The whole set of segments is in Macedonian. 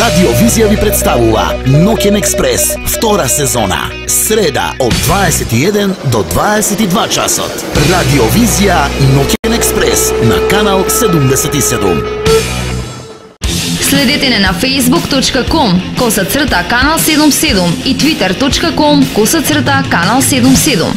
Радио Визија ви представува Ноќен експрес, втора сезона. Среда од 21 до 22 часот. Радио Визија Ноќен експрес на канал 77. Следете не на facebook.com/канал 77 и twitter.com/канал 77.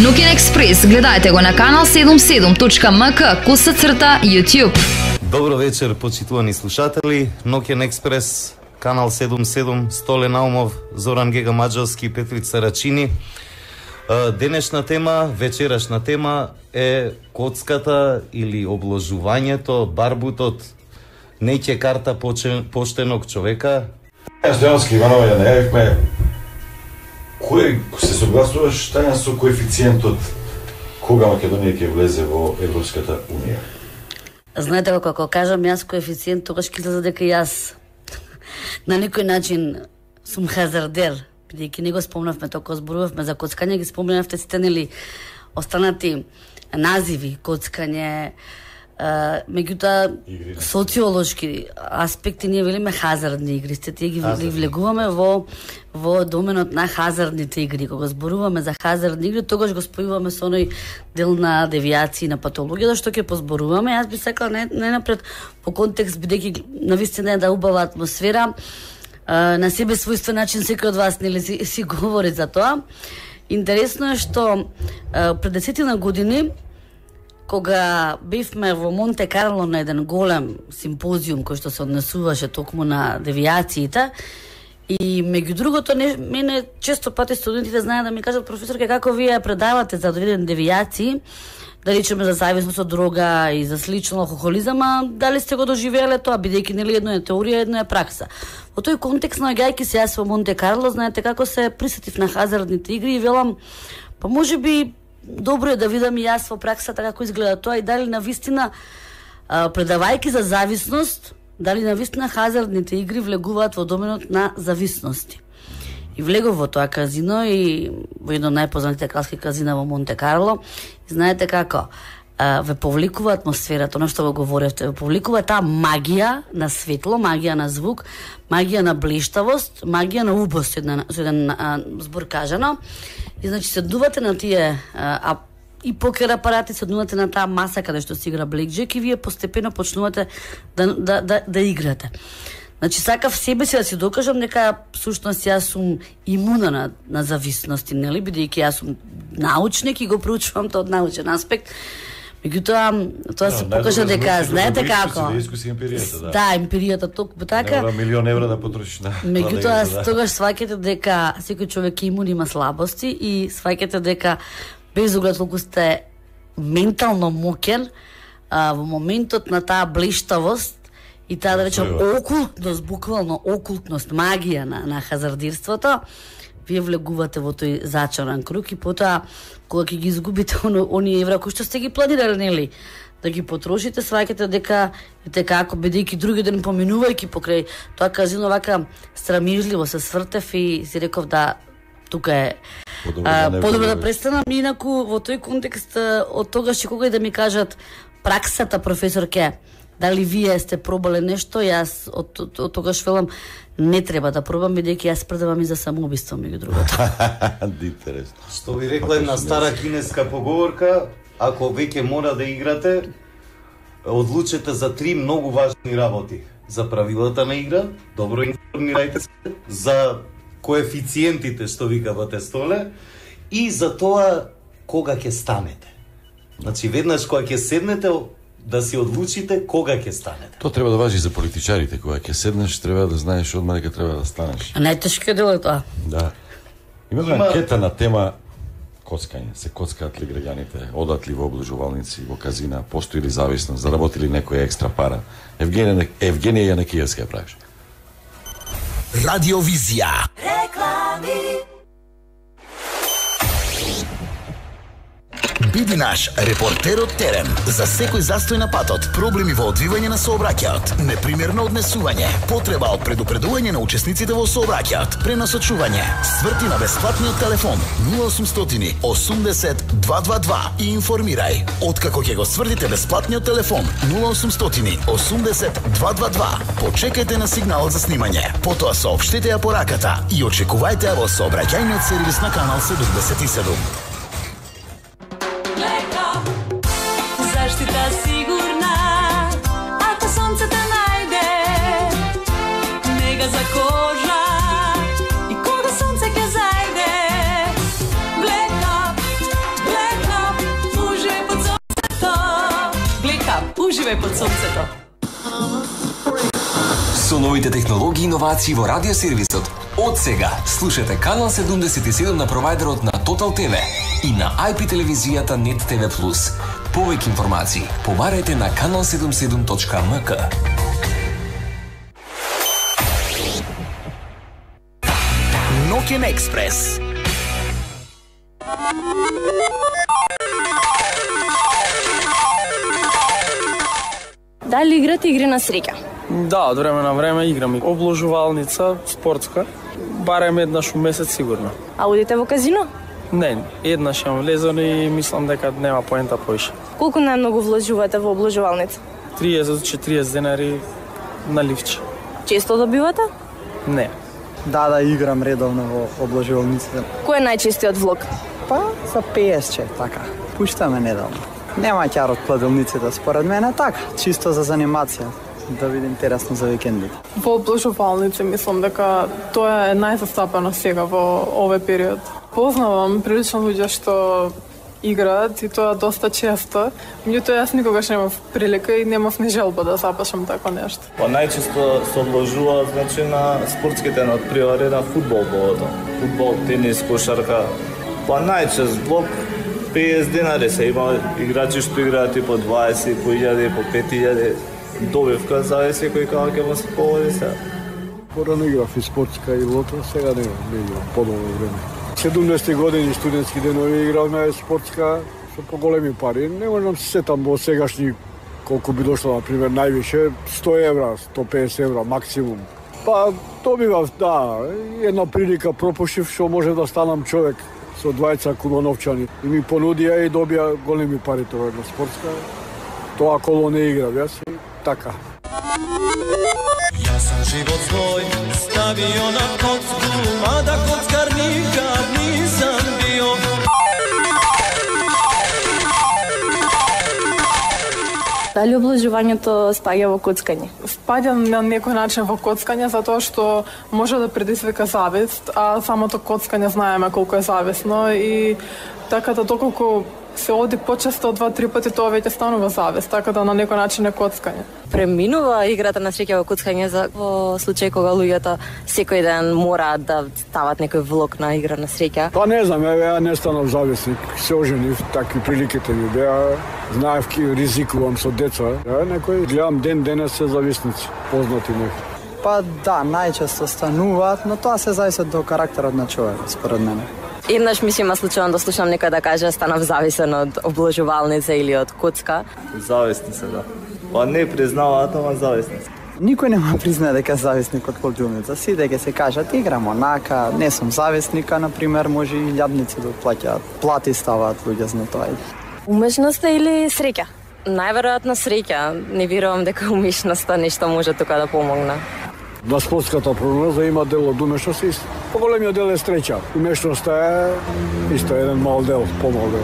Ноќен експрес гледајте го на канал 77.mk/YouTube. Добро вечер, почитувани слушатели. Ноќен експрес, канал 77, Столе Наумов, Зоран Гега Маđarски, Петрица Рачини. Денешна тема, вечерашна тема е коцката или обложувањето, барбутот. Не ќе карта поштеног човека. Стојански Иванова ја најавивме. Кој се согласуваш таја со коефициентот кога Македонија ќе влезе во Европската унија? Знаете како кажам јас коефициент, тогаш ќе излезе дека јас на некој начин сум хазардер, бидејќи не го спомнавме тоа кога зборувавме за коцкање, ги спомнавте сите нели останати називи коцкање, меѓутоа социолошки аспекти ние велиме хазардни игри, тие ги влегуваме во доменот на хазардните игри. Кога зборуваме за хазардни игри, тогаш го спојуваме со оној дел на девијации, на патологија, што ќе позборуваме. Јас би сакала најнапред по контекст, бидејќи навистина е да убава атмосфера, на себе својствен начин секој од вас нели си говори за тоа. Интересно е што пред 10 години кога бевме во Монте Карло на еден голем симпозиум кој што се однесуваше токму на девијациите, и меѓу другото мене често пати студентите знаат да ми кажат: професорке, како вие предавате за одредени девијации, да речеме за зависност од дрога и за слично алкохолизам, а дали сте го доживееле тоа, бидејќи нели едно е теорија, едно е пракса. Во тој контекст, наоѓајќи се јас во Монте Карло, знаете како се присетив на хазардните игри и велам, па можеби добро е да видам и јас во праксата како изгледа тоа и дали навистина, предавајќи за зависност, дали навистина хазардните игри влегуваат во доменот на зависности. И влегов во тоа казино и во едно најпознатите кралски казина во Монте Карло. И знаете како, ве повликува атмосферата, оно што го говоревте, ве повликува таа магија на светло, магија на звук, магија на блештавост, магија на убост, со еден збор кажано. И значи седнувате на тие и покер апарати, седнувате на таа маса каде што се игра блекџек и вие постепено почнувате да играте. Значи сакав себе си да си докажам дека всушност јас сум имуна на зависности, нели, бидејќи јас сум научник и го проучувам тоа од научен аспект. Меѓутоа, тоа се покажа дека, знаете како? Да, емпиријата токму така. Не мора милион евра да потрошиш на. Меѓутоа, тогаш сваќате дека секој човек имун има слабости и сваќате дека без оглед колку сте ментално моќен, во моментот на таа блештавост и таа, да речем, окултност, буквално окултност, магија на хазардирството, вие влегувате во тој зачаран круг и потоа, кога ќе ги изгубите оние евра кои што сте ги планирали, нели, да ги потрошите, сваќате дека како, бидејќи други ден поминувајќи покрај тоа казино, вака страмижливо се свртев и си реков да тука е подобро да престанам. Инаку во тој контекст од тогаш че кога и да ми кажат праксата, професорке, дали вие сте пробале нешто, јас од тогаш велам не треба да пробам, бидејќи јас предавам и за самоубиство, меѓу другото. Интересно. Што ви рекла една стара кинеска поговорка, ако веќе мора да играте, одлучете за 3 многу важни работи. За правилата на игра, добро информирајте се, за коефициентите што викавате Столе, и за тоа кога ќе станете. Значи веднаш кога ќе седнете, да си одлучите кога ќе станете. Тоа треба да важи за политичарите, кога ќе седнеш треба да знаеш одма дека треба да станеш. А најтешкиот дел е тоа. Да. Има анкета на тема коцкање. Се коцкаат ли граѓаните, одат ли во облажувалници, во казина, постои ли зависност, заработи ли некоја екстра пара? Евгенија Јанекиевска ја правиш. Радио Визија. Биди наш репортер од терен за секој застој на патот, проблеми во одвивање на сообраќајот, непримерно однесување, потреба од предупредување на учесниците во сообраќајот, пренасочување. Сврти на бесплатниот телефон 0800 80 222 и информирај. Откако ќе го свртите бесплатниот телефон 0800 80 222, почекајте на сигналот за снимање. Потоа соопштете ја пораката и очекувајте ја во сообраќајниот сервис на канал 77. Заштита сигурна, ако сонцето најде, нега за кожа и кога сонце ќе зајде. Black Up, уживај под сонцето. Black Up, уживај под сонцето. Со новите технологии и иновации во радиосервисот, од сега слушате канал 77 на провајдерот на Total TV и на IP телевизијата Net TV+. Повеќе информации побарајте на kanal77.mk. Ноќен експрес. Дали играте игри на среќа? Да, од време на време играм обложувалница, спортска, барем еднаш у месец сигурно. А одите во казино? Не, еднаш јам влезен и мислам дека нема поента поише. Колку најмногу вложувате во обложувалница? 30-40 денари на ливче. Често добивате? Не. Да, играм редовно во обложувалниците. Кој е најчестиот влог? Па, за PS, така. Пуштаме недавно. Нема ќар од кладилниците, според мене така, чисто за занимација, да биде интересно за викендите. Во обложувалници мислам дека тоа е најзастапено сега во овој период. Познавам прилично луѓе што играат и тоа доста често, меѓутоа јас никогаш немав прилика и немав ни желба да запашам тако нешто. Па најчесто се обложуваат значи на спортските надпревари на фудбал повото. Фудбал, тенис, кошарка. Па најчест блок 50 денари се има играчи што играат и по 20, по 1000, по 5000. Добивка зависи кој кога ќе му се поводи сега. Порано играв и спортска и лото, сега не играм подолго време. 70 години студентски денови игравме спортска со поголеми пари. Не можам се сетам во сегашни колку би дошло, например, највише 100 евра, 150 евра максимум. Па добивав, да, една прилика пропушив што може да станам човек со 20 кула новчани. И ми понудија и добија големи пари тоа на спортска. Тоа коло не играв јас и така. Јас сам живот свој ставио на коцку, мада коцкар никад нисам био. Дали обложувањето спаѓа во коцкање? Спаѓа на некој начин во коцкање затоа што може да предизвика завист, а самото коцкање знаеме колку е зависно и така да доколку се оди почесто 2-3 пати, тоа веќе станува завист, така да на некој начин е коцкање. Преминува играта на среќа во коцкање во случај кога луѓето секој ден мораат да стават некој влог на игра на среќа? Па не знам, ја не станав зависник, се оженив, такви приликите ми беа, знаев ки ризикувам со деца, некој гледам ден се зависници, познати некои. Па да, најчесто стануваат, но тоа се зависи до карактерот на човек, според мене. Еднаш ми се има случајно да слушам некој да каже станав зависен од обложувалница или од коцка. Зависни се, да. Па не признаваат, ама зависни се. Никој нема признае дека е зависник од кладилница. Сите ќе се кажат, играм онака, не сум зависника, например, може и илјадници да плаќаат. Плати ставаат луѓе за тоа. Умешноста или среќа? Најверојатно среќа. Не верувам дека умешноста нешто може тука да помогне. На спортската прогноза има дел од умешност и поголемиот дел е среќа. Умешноста е исто еден мал дел, помал дел.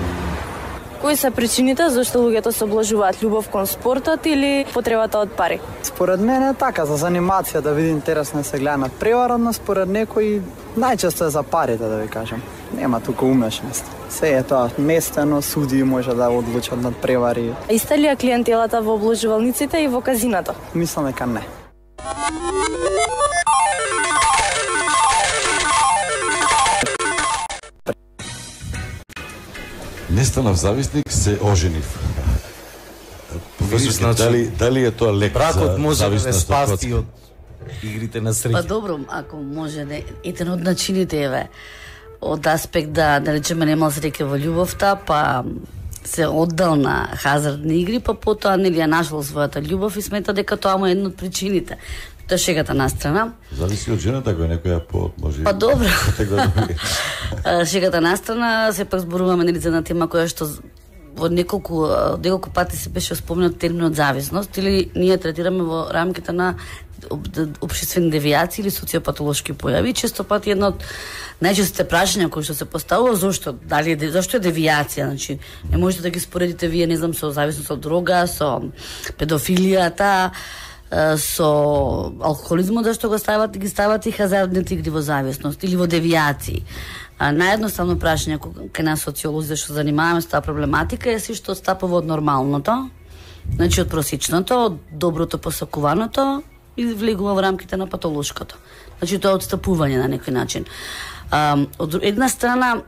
Кои се причините зашто луѓето се обложуваат, љубов кон спортот или потребата од пари? Според мене е така, за занимација да види интересно се гледа над преварот, според некои најчесто е за парите, да ви кажам. Нема тука умешност. Се е тоа местено, суди може да одлучат над превари. Иста ли е клиентелата во обложувалниците и во казината? Мислам дека не. Не станав зависник, се оженив. Дали е тоа лек бракот за може да зависност спасти од игрите на среќа? Па добро, ако може да еден од начините од аспект да речеме немал среќа во љубовта, па се оддал на хазардни игри, па потоа нели ја нашол својата љубов и смета дека тоа му е една од причините. Тоа шегата на страна. Зависи од жената, ако е некоја може. Па добро. Шегата на страна, сепак зборуваме нели за една тема која што во неколку пати се беше спомнат терминот зависност, или ние третираме во рамките на општествени девијации или социопатолошки појави. Често пати едно од најчестите прашања кои што се поставува, зошто е девијација, значи не можете да ги споредите вие, не знам, со зависност од дрога, со педофилијата, со алкохолизмот, зашто ги стават и хазардните игри во зависност или во девијации. Наједноставно прашање кај нас социолози што занимаваме со таа проблематика е си што стапува од нормалното, значи од просечното, од доброто посакуваното и влегува во рамките на патолошкото. Значи тоа е отстапување на некој начин. Од една страна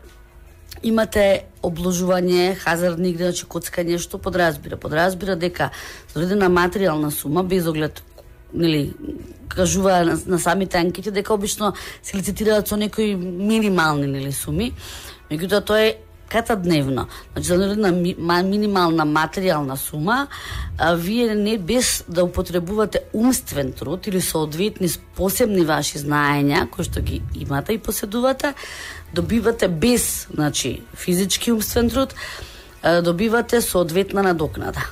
имате обложување, хазардни игри, значи коцкање, што подразбира? Подразбира дека за одредена материјална сума, без оглед, нели, кажува на самите анкети дека обично се лицитираат со некои минимални, нели, суми, меѓутоа тоа е катадневно. Значи за одредена минимална материјална сума, вие не без да употребувате умствен труд или соодветни посебни ваши знаења кои што ги имате и поседувате, добивате без, значи, физички умствен труд, добивате соодветна надокнада.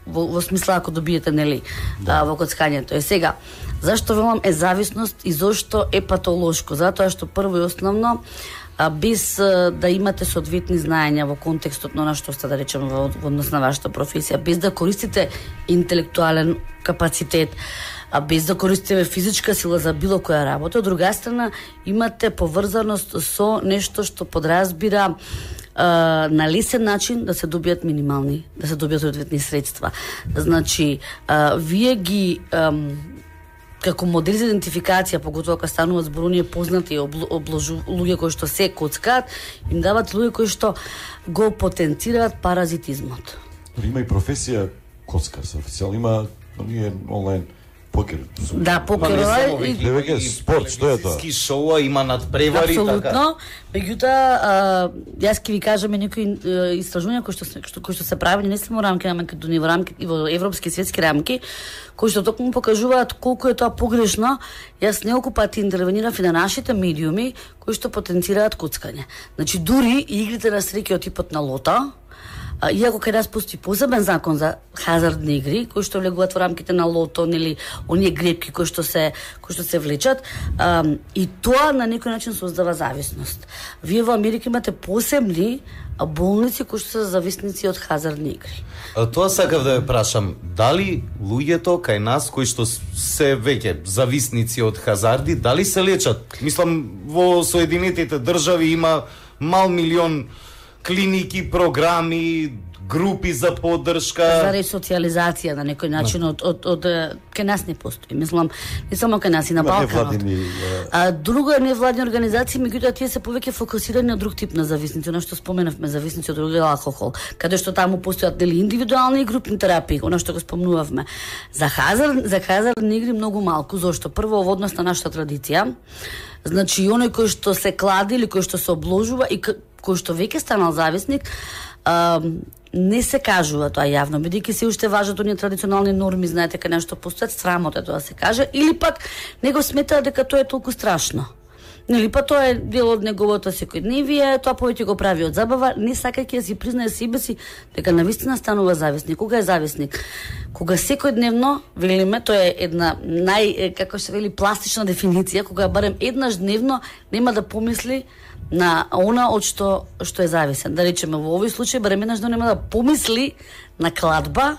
Во смисла ако добиете, нели, во коцкањето. Е сега, зашто велам е зависност и зашто е патолошко? Затоа што прво и основно, без да имате соодветни знаења во контекстот на што сте, да речеме, во однос на вашата професија, без да користите интелектуален капацитет, без да користите физичка сила за било која работа, од друга страна имате поврзаност со нешто што подразбира на лесен начин да се добијат минимални, да се добијат соодветни средства. Значи, вие ги како модел за идентификација, поготоа кога стануваат збор оние познати луѓе кои што се коцкаат, им дават луѓе кои што го потенцираат паразитизмот. Има и професија коцкар, официјално има оние онлайн покер. Да, покер е спорт, што е тоа? Ски шоуа, има надпревари, така. Апсолутно. Меѓутоа, јас ќе ви кажам некои истражувања кои што се прави не само во рамки на Македонија, во рамки и во европски и светски рамки, кои што токму покажуваат колку е тоа погрешно. Јас неколку пати интервенирав и на нашите медиуми кои што потенцираат коцкање. Значи дури и игрите на среќа од типот на лото, иако кај нас постои посебен закон за хазардни игри, кои што влегуваат во рамките на лото, нели, оние грепки кои што се влечат, и тоа на некој начин создава зависност. Вие во Америка имате посебни болници кои што се зависници од хазардни игри. Тоа сакав да ве прашам, дали луѓето кај нас кои што се веќе зависници од хазарди, дали се лечат? Мислам, во Соединетите држави има мал милион клиники, програми, групи за поддршка, за ресоциализација на некој начин од кај нас не постои. Мислам, не само кај нас и на Балканот. Друго е невладини организации, меѓутоа тие се повеќе фокусирани на друг тип на зависници, она што споменавме, зависници од други алкохол, каде што таму постојат дели индивидуални и групни терапии, она што го спомнувавме. За хазардни игри многу малку, зашто прво во однос на нашата традиција, значи оној кој што се клади или кој што се обложува и кој што веќе станал зависник, не се кажува тоа јавно, бидејќи се уште важат оние традиционални норми, знаете, кај нешто постојат, срамот е тоа се каже, или пак него сметаа дека тоа е толку страшно. Нели, па тоа е дел од неговото секојдневие, тоа повеќе го прави од забава, не сакајќи да си признае себе си дека навистина станува зависник. Кога е зависник? Кога секојдневно, велиме, тоа е една како се вели, пластична дефиниција, кога барем еднаш дневно нема да помисли на она од што е зависен. Да речеме, во овој случај барем еднаш дневно нема да помисли на кладба,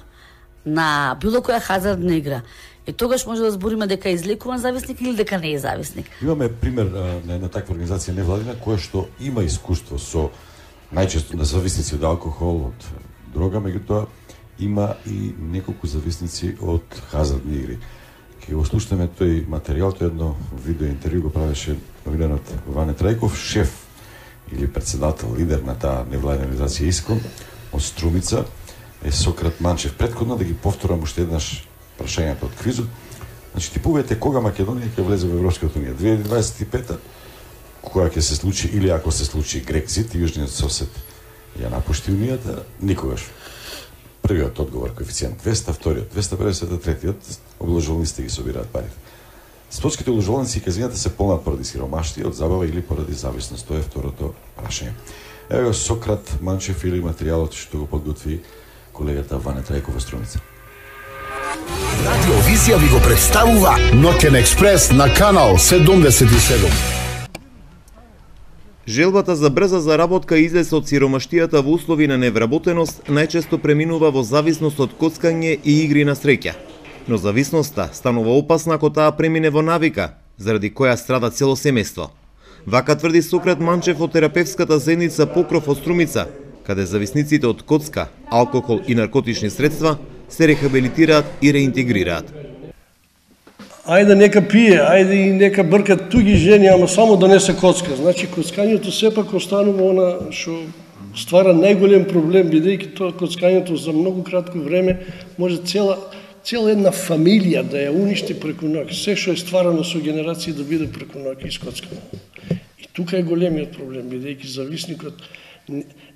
на било која хазардна игра. И тогаш може да збориме дека е излекуван зависник или дека не е зависник. Имаме пример на една таква организација невладина која што има искуство со најчесто на зависници од алкохол, од дрога, меѓутоа има и неколку зависници од хазардни игри. Ке го слушнеме тој материјал, тој едно видео интервју го правеше новинарот Ване Трајков, шеф или председател, лидер на таа невладина организација ИСКОН од Струмица, е Сократ Манчев. Предходно да ги повторам уште еднаш прашањето од квизот. Значи, типувате кога Македонија ќе влезе во Европската унија? 2025-та, кога ќе се случи, или ако се случи Грекзит, јужниот сосед ја напушти унијата, никогаш. Првиот одговор коефициент 200, вториот 250, третиот обложувалниците ги собираат парите. Спортските обложувалници и казината се полнат поради сиромаштија од забава или поради зависност. Тоа е второто прашање. Ево Сократ Манчев или материјалот што го подготви колегата Ване Трајкова Струмица. Радиовизија ви го представува Ноќен експрес на канал 77. Желбата за брза заработка и излез од сиромаштијата во услови на невработеност најчесто преминува во зависност од коцкање и игри на среќа. Но зависноста станува опасна ако таа премине во навика, заради која страда цело семејство. Вака тврди Сократ Манчев од терапевската заедница Покров од Струмица, каде зависниците од коцка, алкохол и наркотични средства се рехабилитираат и реинтегрираат. Ајде нека пие, ајде и нека бркат туги жени, ама само да не се коцка. Значи коцкањето сепак останува она што ствара најголем проблем, бидејќи тоа коцкањето за многу кратко време може цела една фамилија да ја уништи преку ноќ. Се што е стварано со генерации да биде преку ноќ искоцкано. И тука е големиот проблем, бидејќи зависникот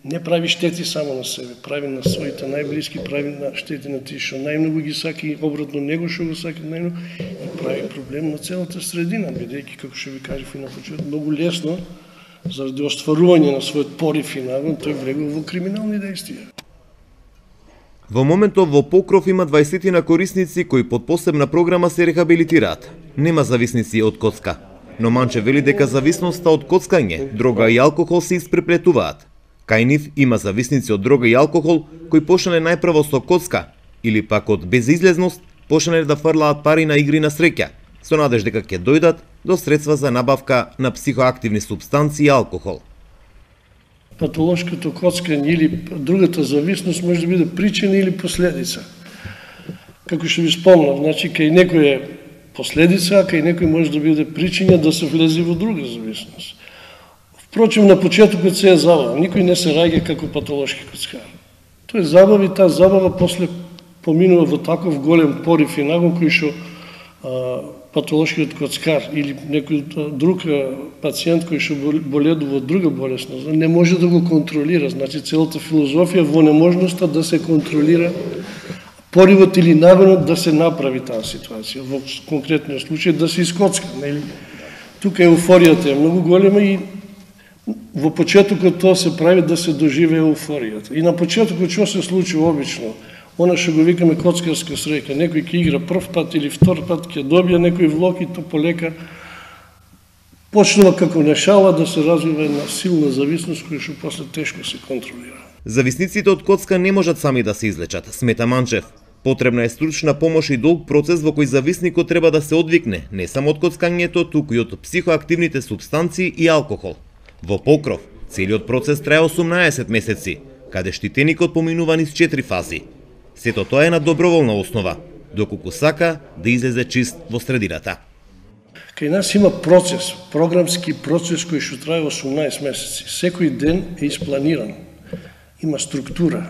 не прави штети само на себе, прави на своите најблиски, прави на штети на тие што најмногу ги сака и обратно него што го сака најмногу и прави проблем на целата средина, бидејќи како што ви кажав и на почеток, многу лесно заради остварување на својот порив и нагон тој влегува во криминални дејствија. Во моментов во Покров има 20 корисници кои под посебна програма се рехабилитираат. Нема зависници од коцка, но Манче вели дека зависноста од коцкање, дрога и алкохол се испреплетуваат. Кај нив има зависници од дрога и алкохол кои почнале најпрво со коцка или пак од безизлезност почнале да фрлаат пари на игри на среќа, со надеж дека ќе дојдат до средства за набавка на психоактивни супстанции и алкохол. Патолошкото коцкање или другата зависност може да биде причина или последица. Како што ви спомнав, значи кај некој е последица, а кај некој може да биде причина да се влезе во друга зависност. Впрочем, на почетокот се е забава. Никој не се раѓа како патолошки коцкар. Тој е забава и таа забава после поминува во таков голем порив и нагон кој што патолошкиот коцкар или некој друг пациент кој што боледува од друга болесност не може да го контролира. Значи целата филозофија во неможноста да се контролира поривот или нагонот да се направи таа ситуација. Во конкретниот случај да се искоцка. Тука еуфоријата е многу голема и во почетокот тоа се прави да се доживее еуфоријата. И на почетокот што се случува обично? Она што го викаме коцкарска среќа. Некој ќе игра прв пат или втор пат, ќе добие некој влог и то полека почнува како нешала да се развива една силна зависност која што после тешко се контролира. Зависниците од коцка не можат сами да се излечат, смета Манчев. Потребна е стручна помош и долг процес во кој зависникот треба да се одвикне не само од коцкањето, туку и од психоактивните супстанции и алкохол. Во Покров, целиот процес трае 18 месеци, каде штитеникот поминува низ 4 фази. Сето тоа е на доброволна основа, доколку сака да излезе чист во средината. Кај нас има процес, програмски процес кој што трае 18 месеци. Секој ден е испланиран. Има структура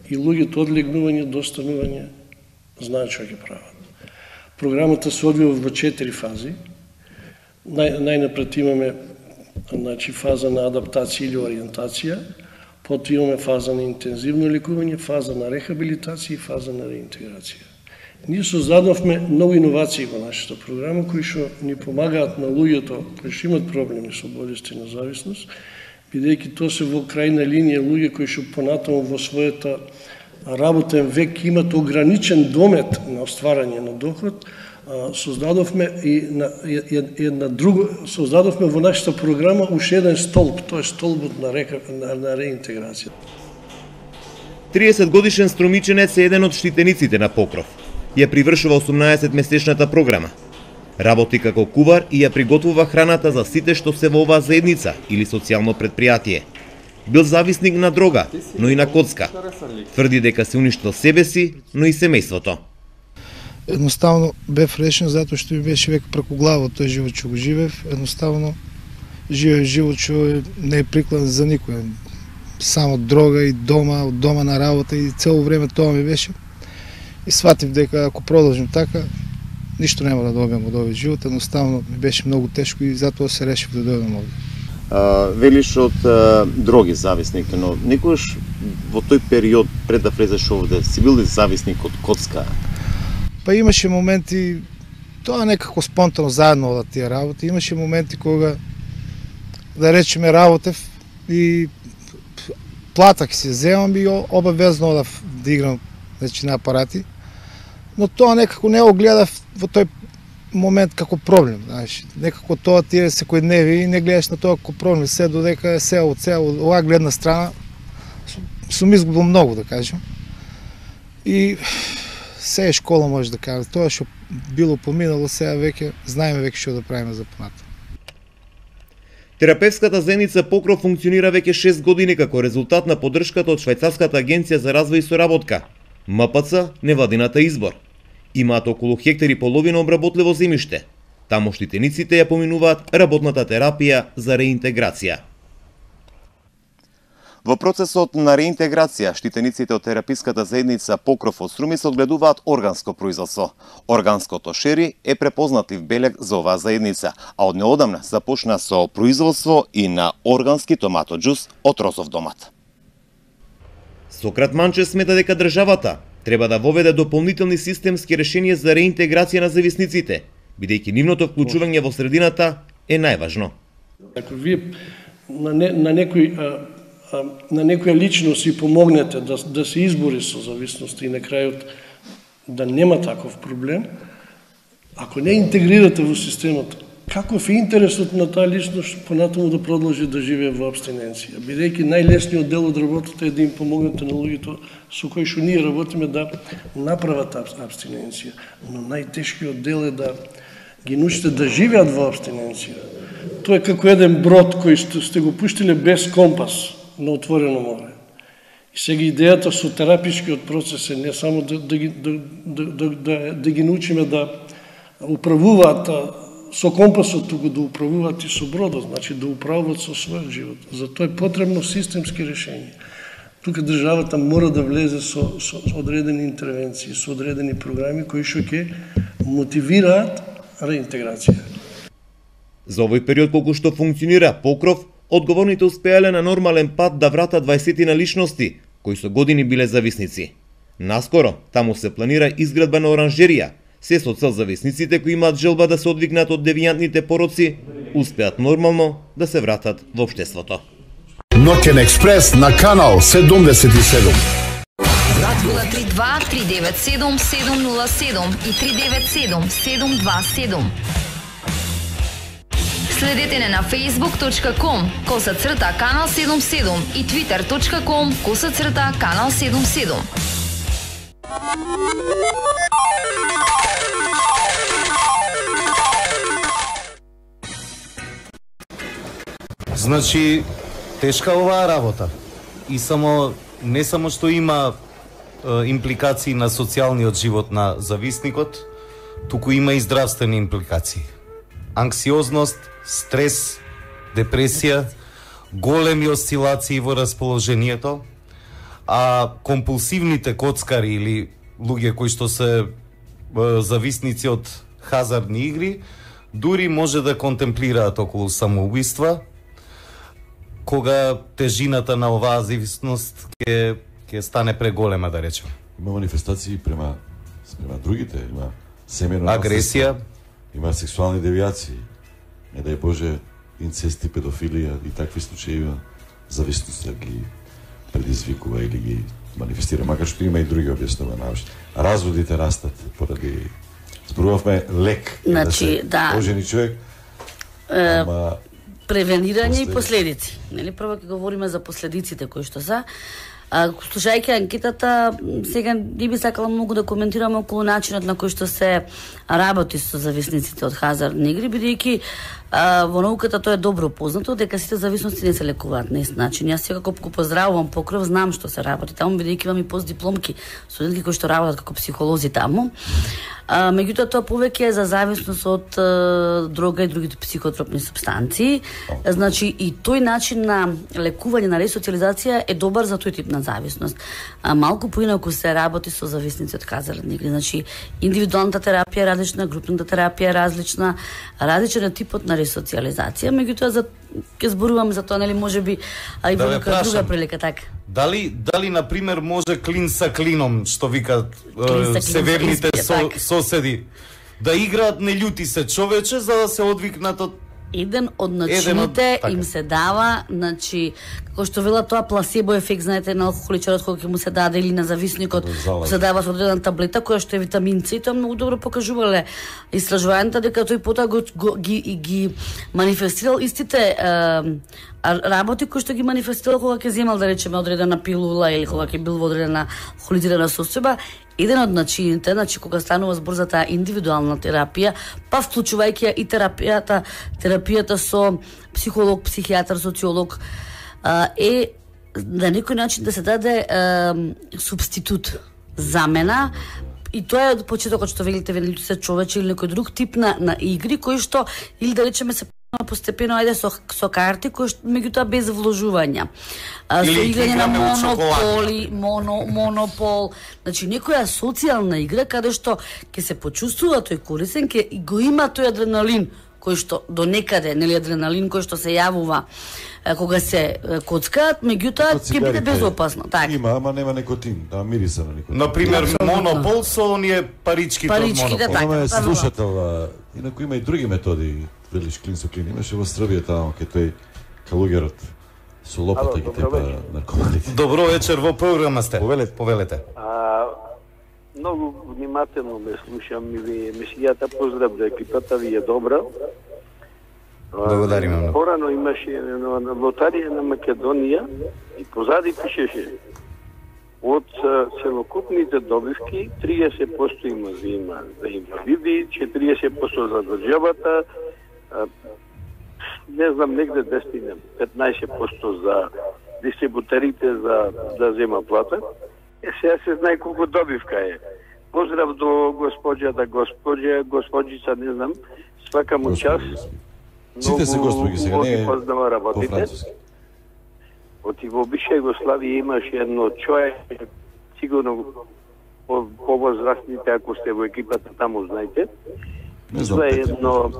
и луѓето од легнување до станување знаат што ќе прават. Програмата се одвива во 4 фази. Најнапред имаме фаза на адаптација или ориентација, потоа имаме фаза на интензивно лекување, фаза на рехабилитација и фаза на реинтеграција. Ние создадовме многу иновации во нашата програма кои што ни помагаат на луѓето кои што имат проблеми со болести на зависност, бидејќи тоа се во крајна линија луѓе кои што понатаму во својата работен век имат ограничен домет на остварање на доход, создадовме создадовме во нашата програма уште еден столб, тоа е столбот на реинтеграција. 30 годишен струмиченец е еден од штитениците на Покров. Ја привршува 18-месечната програма. Работи како кувар и ја приготвува храната за сите што се во оваа заедница или социјално предпријатие. Бил зависник на дрога, но и на коцка. Тврди дека се уништил себе си, но и семејството. Едноставно бев решен затоа што ми беше веќе преку глава тој живот што го живеев. Едноставно живеев живот што не е прикладен за никој. Само дрога и дома, од дома на работа и цело време тоа ми беше. И сватив дека ако продолжим така, ништо нема да добијам од овој живот. Едноставно ми беше многу тешко и затоа се решив да дојдам овде. Велиш од дроги зависник, но никогаш во тој период пред да влезеш овде, си бил ли зависник од коцка? Па имаше моменти, тоа некако спонтано заедно од тие работи, имаше моменти кога, да речеме, работев и плата ќе си земам и обавезно одав да играм на апарати, но тоа некако не го гледав во тој момент како проблем, знаеш. Некако тоа ти е секојдневие и не гледаш на тоа како проблем, се додека се од оваа гледна страна сум изгубил многу, да кажем. И се е школа, може да кажа. Тоа што било поминало, сега веќе знаеме веќе што да правиме за понатаму. Терапевската заедница Покров функционира веќе 6 години како резултат на поддршката од Швајцарската агенција за развој и соработка, МПЦ, невладината Избор. Имаат околу хектари половина обработливо земјиште. Таму штитениците ја поминуваат работната терапија за реинтеграција. Во процесот на реинтеграција, штитениците од тераписката заедница Покров од Струмиц одгледуваат органско производство. Органското шери е препознатлив белег за оваа заедница, а од неодамна започна со производство и на органски томатоџус од розов домат. Сократ Манче смета дека државата треба да воведе дополнителни системски решенија за реинтеграција на зависниците, бидејќи нивното вклучување во средината е најважно. Ако вие на некоја личност си помогнете да се избори со зависност и на крајот да нема таков проблем, ако не интегрирате во системот, каков е интересот на таа личност понатаму да продолжи да живее во абстиненција? Бидејќи најлесниот дел од работата е да им помогнете на луѓето со кои што ние работиме да направат абстиненција, но најтешкиот дел е да ги научите да живеат во абстиненција. Тоа е како еден брод кој сте го пуштиле без компас на отворено море. И сега идејата со терапичкиот процес е не само да ги научиме да управуваат со компасот, туку да управуваат и со бродот, значи да управуваат со својот живот. Затоа е потребно системски решение. Тука државата мора да влезе со одредени интервенции, со одредени програми кои што ќе мотивираат реинтеграција. За овој период колку што функционира Покров, одговорните успеале на нормален пат да вратат 20 личности, кои со години биле зависници. Наскоро, таму се планира изградба на оранжерија, се со цел зависниците кои имаат желба да се одвигнат од девијантните пороци, успеат нормално да се вратат во општеството. Ноќен експрес на канал 77. Радио 032 397 707 и 397 727. Следете не на facebook.com/канал 77 и twitter.com/канал 77. Значи, тешка оваа работа. И не само што има импликации на социјалниот живот на зависникот, туку има и здравствени импликации. Анксиозност, стрес, депресија, големи осцилации во расположението, а компулсивните коцкари или луѓе кои што се зависници од хазардни игри, дури може да контемплираат околу самоубиства, кога тежината на оваа зависност ќе стане преголема, да речем. Има манифестации према другите, има семејно агресија, има сексуални девијации, не дај Боже, инцести, педофилија и такви случаи зависност да ги предизвикува или ги манифестира, макар што има и други објаснувања научни. Разводите растат поради зборувавме лек, значи, да се ожени човек, ама превенирање и последици. Нели прво ќе говориме за последиците кои што се. Слушајќи анкетата, сега не би сакала многу да коментираме околу начинот на кој што се работи со зависниците од хазардни игри, бидејќи во науката тоа е добро познато дека сите зависности не се лекуваат на ист начин. Јас секако го поздравувам Покров, знам што се работи таму, бидејќи имам и постдипломки студентки кои што работат како психолози таму. Меѓутоа тоа повеќе е за зависност од дрога и другите психотропни супстанции. Значи и тој начин на лекување, на ресоциализација е добар за тој тип на зависност. Малку поинаку се работи со зависници од хазардни игри. Значи индивидуалната терапија е различна, групната терапија е различна, различен е типот на почна ресоциализација, меѓутоа ќе зборувам за тоа, нели, можеби и во некоја друга прилика, така. Дали на пример може клин са клином, што викаат северните соседи, да играат не љути се човече за да се одвикнат од еден од начините им се дава, значи, како што вела тоа пласебо ефект, знаете, на алкохоличарот кога ќе му се даде или на зависникот, се дава со одредена таблета која што е витамин С, и тоа многу добро покажувале истражувањата дека тој потоа ги манифестирал истите работи кои што ги манифестирал кога ќе земал, да речеме, одредена пилула или кога ќе бил во одредена алкохолизирана состојба. Еден од начините, значи кога станува збор за таа индивидуална терапија, па вклучувајќи и терапијата со психолог, психијатар, социолог, е на некој начин да се даде субститут, замена, и тоа е од почетокот што велите вели се човече или некој друг тип на игри кои што, или да речеме, се постепено ајде со карти кои што меѓутоа без вложувања. Со играње на монопол, значи некоја социјална игра каде што ќе се почувствува тој корисен, ќе го има тој адреналин кој што до некаде, нели, адреналин кој што се јавува кога се коцкаат, меѓутоа ќе биде безопасно. Така. Има, ама нема никотин, да мириса на никотин. Например, монопол со оние паричките од монопол. Ама е слушател, инаку има и други методи. Велиш клин со клин, имаше во Србија таму кај тој калугерот со лопата ги тепа наркоманите. Добро вечер, во програма сте. Повелете. Многу внимателно ме слушам и ви емисијата, поздрав за екипата, ви е добра. Благодариме многу. Порано имаше на лотарија на Македонија и позади пишеше од целокупните добивки 30% има за инвалиди, 40% за државата, не знам, негде 15% за дистрибутерите да зема плата. Сега се знае колку добивка е. Поздрав до господјица, не знам, свака му час. Сите се господи сега, не е по француски. Од во бивша Југославија имаше едно човек, сигурно повозрастните, ако сте во екипата таму, знаете. Не знам, това е едно...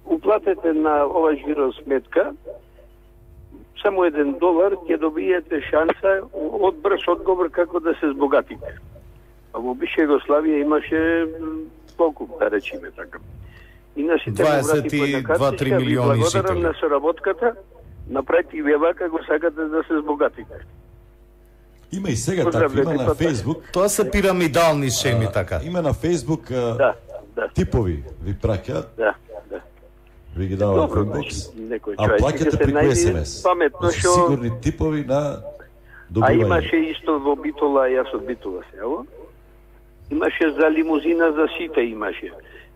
Уплатете на ова жиро сметка, само $1 ќе добиете шанса од брз одговор како да се збогатите. А во бивша Југославија имаше колку, да речеме така. И на сите 22-3 милиони жители. Благодарам на соработката, направите вие вака го сакате да се збогатите. Има и сега така, има на Фейсбук. Тоа се пирамидални шеми така. Има на Фейсбук типови ви праќаат. Да. Ви ги дават во инбокс. А плаќате преку СМС. Паметно што сигурни типови на добивање. А имаше исто во Битола, јас од Битола село. Имаше за лимузина за сите имаше.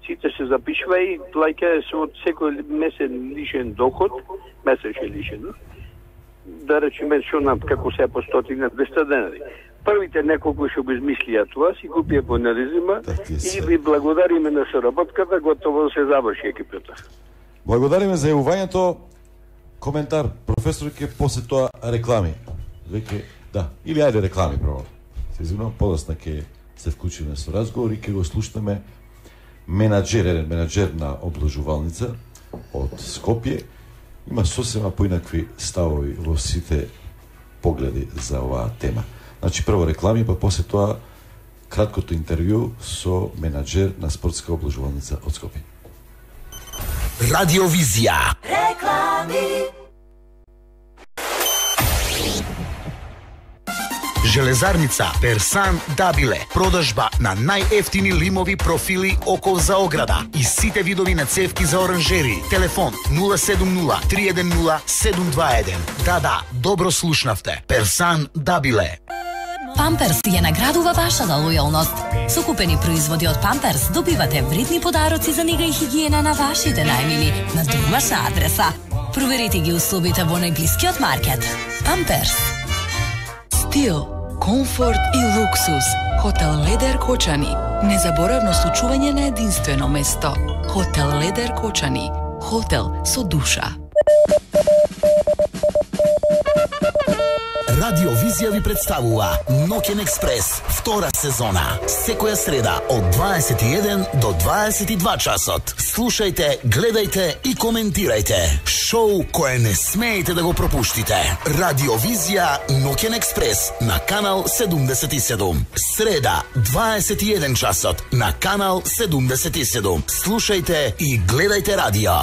Сите се запишува и плаќа се од секој месен лишен доход, месечен лишен. Да речеме што на како се по 100-200 денари. Првите неколку што го измислија тоа, си купија по нерезима и ви благодариме на соработката, готово се заврши екипата. Благодариме за јавувањето. Коментар, професор, ќе после тоа реклами. Веќе, да, или ајде реклами право. Се извинувам, подоцна ќе се вклучиме со разговор и ќе го слушнеме еден менаџер на обложувалница од Скопје. Има сосема поинакви ставови во сите погледи за оваа тема. Значи, прво реклами, па после тоа краткото интервју со менаџер на спортска обложувалница од Скопје. Радиовизија. Реклами. Железарница Персан Дабиле. Продажба на најефтини лимови профили окол за ограда и сите видови на цевки за оранжери. Телефон 070-310-721. Да, добро слушнавте. Персан Дабиле. Памперс ја наградува вашата лојалност. Со купени производи од Памперс добивате вредни подароци за нега и хигиена на вашите најмили на домашна адреса. Проверете ги условите во најблискиот маркет. Памперс. Стил, комфорт и луксус. Хотел Ледер Кочани. Незаборавно случување на единствено место. Хотел Ледер Кочани. Хотел со душа. Радио Визија ви представува Ноќен експрес, втора сезона. Секоја среда од 21 до 22 часот. Слушајте, гледајте и коментирајте. Шоу кое не смеете да го пропуштите. Радио Визија Ноќен експрес на канал 77. Среда 21 часот на канал 77. Слушајте и гледајте радио.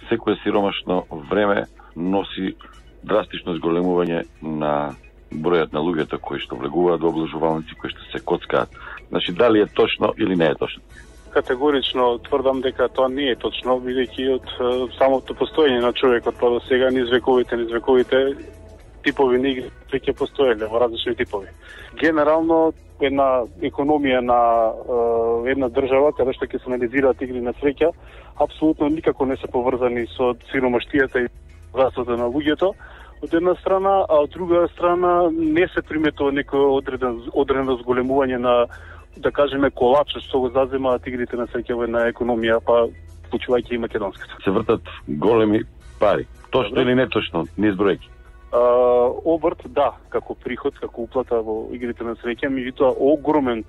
Секое сиромашно време носи драстично зголемување на бројот на луѓето кои што влегуваат во облажувалници, кои што се коцкаат. Значи, дали е точно или не е точно? Категорично тврдам дека тоа не е точно, бидејќи од самото постоење на човекот па до сега низ вековите типови на игри веќе постоеле во различни типови. Генерално една економија на една држава каде што ќе се анализираат игри на среќа апсолутно никако не се поврзани со сиромаштијата и богатството на луѓето од една страна, а од друга страна не се приметува некој одредено зголемување на, да кажеме, колапсот што го заземаат игрите на среќа во една економија, па вклучувајќи и македонската. Се вртат големи пари. Точно или не точно, низ бројки? Обрт, да, како приход, како уплата во игрите на среќа, меѓутоа огромен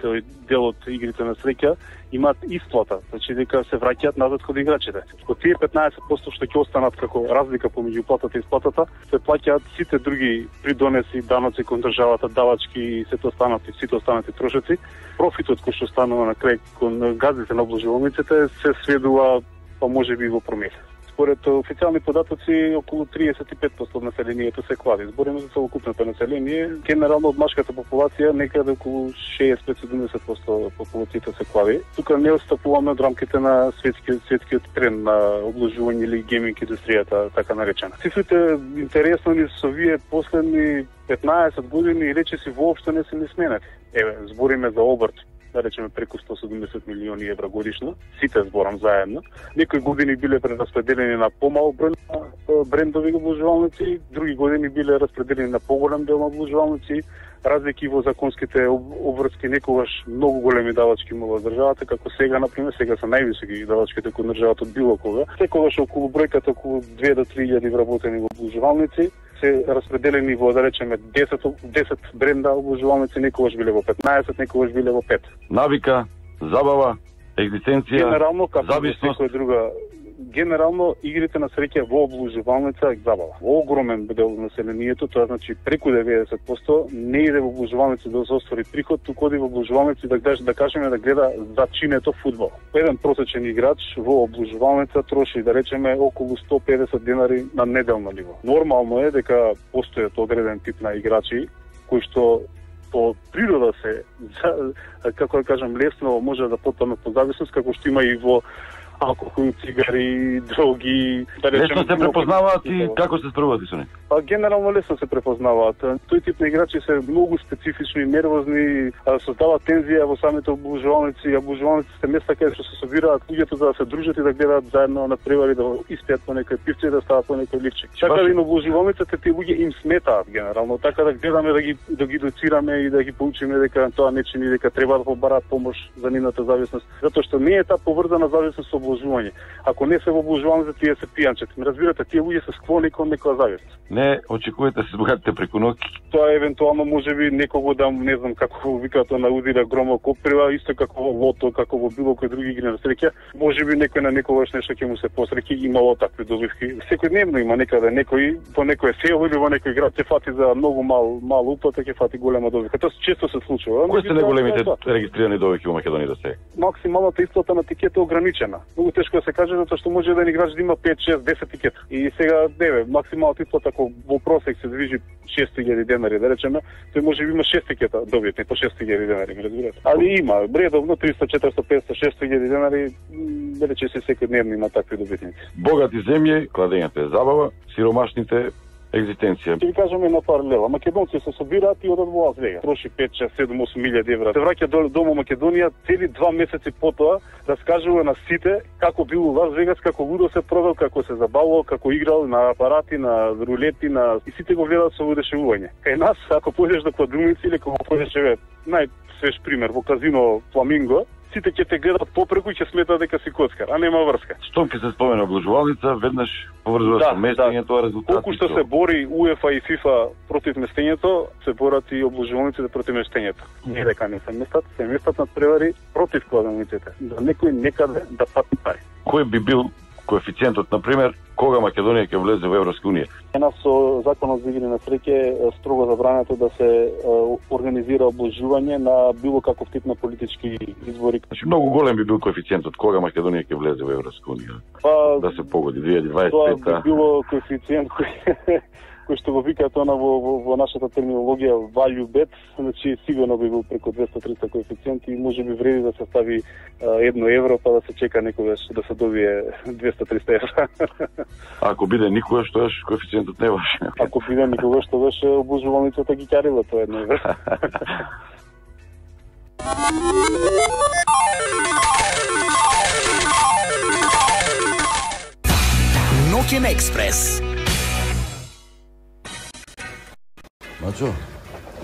дел од игрите на среќа имаат исплата, значи дека се враќаат назад кон играчите. Од тие 15% што ќе останат како разлика помеѓу уплатата и исплатата, се плаќаат сите други придонеси, даноци кон државата, давачки и сите останати трошоци. Профитот кој што станува на крај кон газите на обложувалниците се сведува па можеби во промил. Според официјални податоци, околу 35% од населението се клади. Збориме за целокупното население. Генерално од машката популација некаде околу 65-70% популацијата се клади. Тука не отстапуваме од рамките на светскиот тренд на обложување или гейминг индустријата, така наречена. Цифрите интересно ни со вие последни 15 години и речиси воопшто не се ни сменати. Еве, збориме за обрт, да речеме преку 170 милиони евра годишно, сите зборам заедно. Некои години биле прераспределени на помал број на брендови обложувалници, други години биле распределени на поголем дел на обложувалници, разлики во законските обврски, некогаш многу големи давачки имала државата, како сега, например, сега се највисоки давачките кон државата од било кога. Секогаш околу бројката околу 2 до 3.000 вработени во обложувалници се распределени во, да речеме, 10 бренда обложувалници, некогаш биле во 15, некогаш биле во 5. Навика, забава, екзистенција, зависност. Генерално игрите на среќа во обложувалница е забава. Во огромен дел од населението, тоа значи преку 90%, не иде во обложувалница да се оствари приход, туку оди во обложувалница да кажеме да гледа зачинето фудбал. Еден просечен играч во обложувалница троши, да речеме, околу 150 денари на неделно ниво. Нормално е дека постојат одреден тип на играчи кои што по природа се, како да кажам, лесно може да потпаднат по зависност, како што има и во алкохол, цигари, дроги, да речем. Лесно се препознаваат и како се справуваат со нив? Па генерално лесно се препознаваат. Тој тип на играчи се многу специфични, нервозни, создаваат тензија во самите обложувалници. Обложувалниците се места каде што се собираат луѓето за да се дружат и да гледаат заедно на превари, да испијат по некој пивче и да стават по некој ливчик. Така да и на обложувалниците тие луѓе им сметаат генерално, така да гледаме да ги доцираме и да ги поучиме дека тоа не чини, дека треба да побараат помош за нивната зависност, затоа што не е таа поврзана зависност со обложување. Ако не се во обложувалниците, тие се пијанчета. Ме разбирате, тие луѓе се склони кон некоја зависност. Не очекувате се збогатите преку ноќ. Тоа евентуално можеби некого да, не знам како викаат на удира громо коприва, исто како во лото, како во било кој други игри на среќа. Можеби некој на некогаш нешто ќе му се посреќи, имало такви добивки. Секојдневно има некаде некој по некој село или во некој град ќе фати за многу мал уплата, ќе фати голема добивка. Тоа често се случува. Кои се најголемите регистрирани добивки во Македонија до сега? Максималната исплата на тикета е ограничена. Многу тешко да се каже затоа што може да играч да има 5, 6, 10 тикета. И сега максималната исплата ако во просек се движи 6.000 денари, да речеме, тој може би има 6 тикета добитни по 6.000 денари, ме разбирате. Али има редовно 300, 400, 500, 600.000 денари, да рече се секојдневно има такви добитници. Богати земји, кладењето е забава, сиромашните екзистенција. Ќе ви кажеме на паралела. Македонци се собираат и одат во Лас Вегас. Троши 5, 6, 7, 8 милијади евра. Се враќа дома Македонија, цели 2 месеци потоа раскажува на сите како бил во Лас Вегас, како лудо се провел, како се забавувал, како играл на апарати, на рулети, и сите го гледаат со одушевување. Кај нас, ако појдеш до кладумици или ако појдеш најсвеж пример во казино Фламинго, сите ќе те гледат попреку и ќе сметат дека си коцкар, а нема врска. Штом ќе се спомена обложувалница, веднаш поврзува со местењето, резултати. Колку што се бори УЕФА и ФИФА против местењето, се борат и обложувалниците против местењето. Не дека не се местат над превари против кладениците. Да некој некаде да пати пари. Кој би бил коефициентот, например, кога Македонија ќе влезе во Европска унија? Нас со законот за игри на среќа строго забрането да се организира обложување на било каков тип на политички избори. Значи многу голем би бил коефициентот кога Македонија ќе влезе во Европска унија. Да се погоди 2025. Тоа би било коефициент кој што го викаат она во нашата терминологија value bet, значи сигурно би бил преку 200-300 коефициент и може би вреди да се стави 1 евро па да се чека некогаш да се добие 200-300 евра. Ако биде никогаш, тоаш коефициентот не важи. Ако биде никогаш, тогаш обложувалницата ги ќарила тоа 1 евро. Ноќен експрес. Мачо,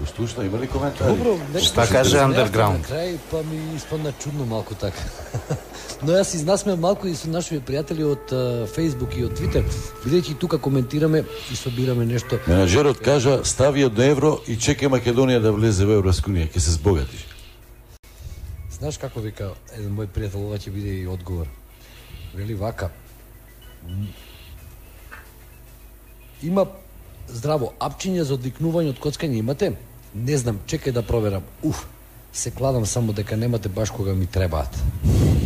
го слушна, има ли коментари? Добро, Шта каже Underground? На крај, па ми испадна чудно малку така. Но јас изнасмеам малку и со нашите пријатели од Facebook и од Twitter, бидејќи тука коментираме и собираме нешто. Менаџерот кажа, стави 1 евро и чекај Македонија да влезе во Европска унија, ќе се збогатиш. Знаеш како вика еден мој пријател, ова ќе биде и одговор. Вели вака. Има здраво апчиња за одвикнување од коцкање имате? Не знам, чекај да проверам. Се кладам само дека немате баш кога ми требаат.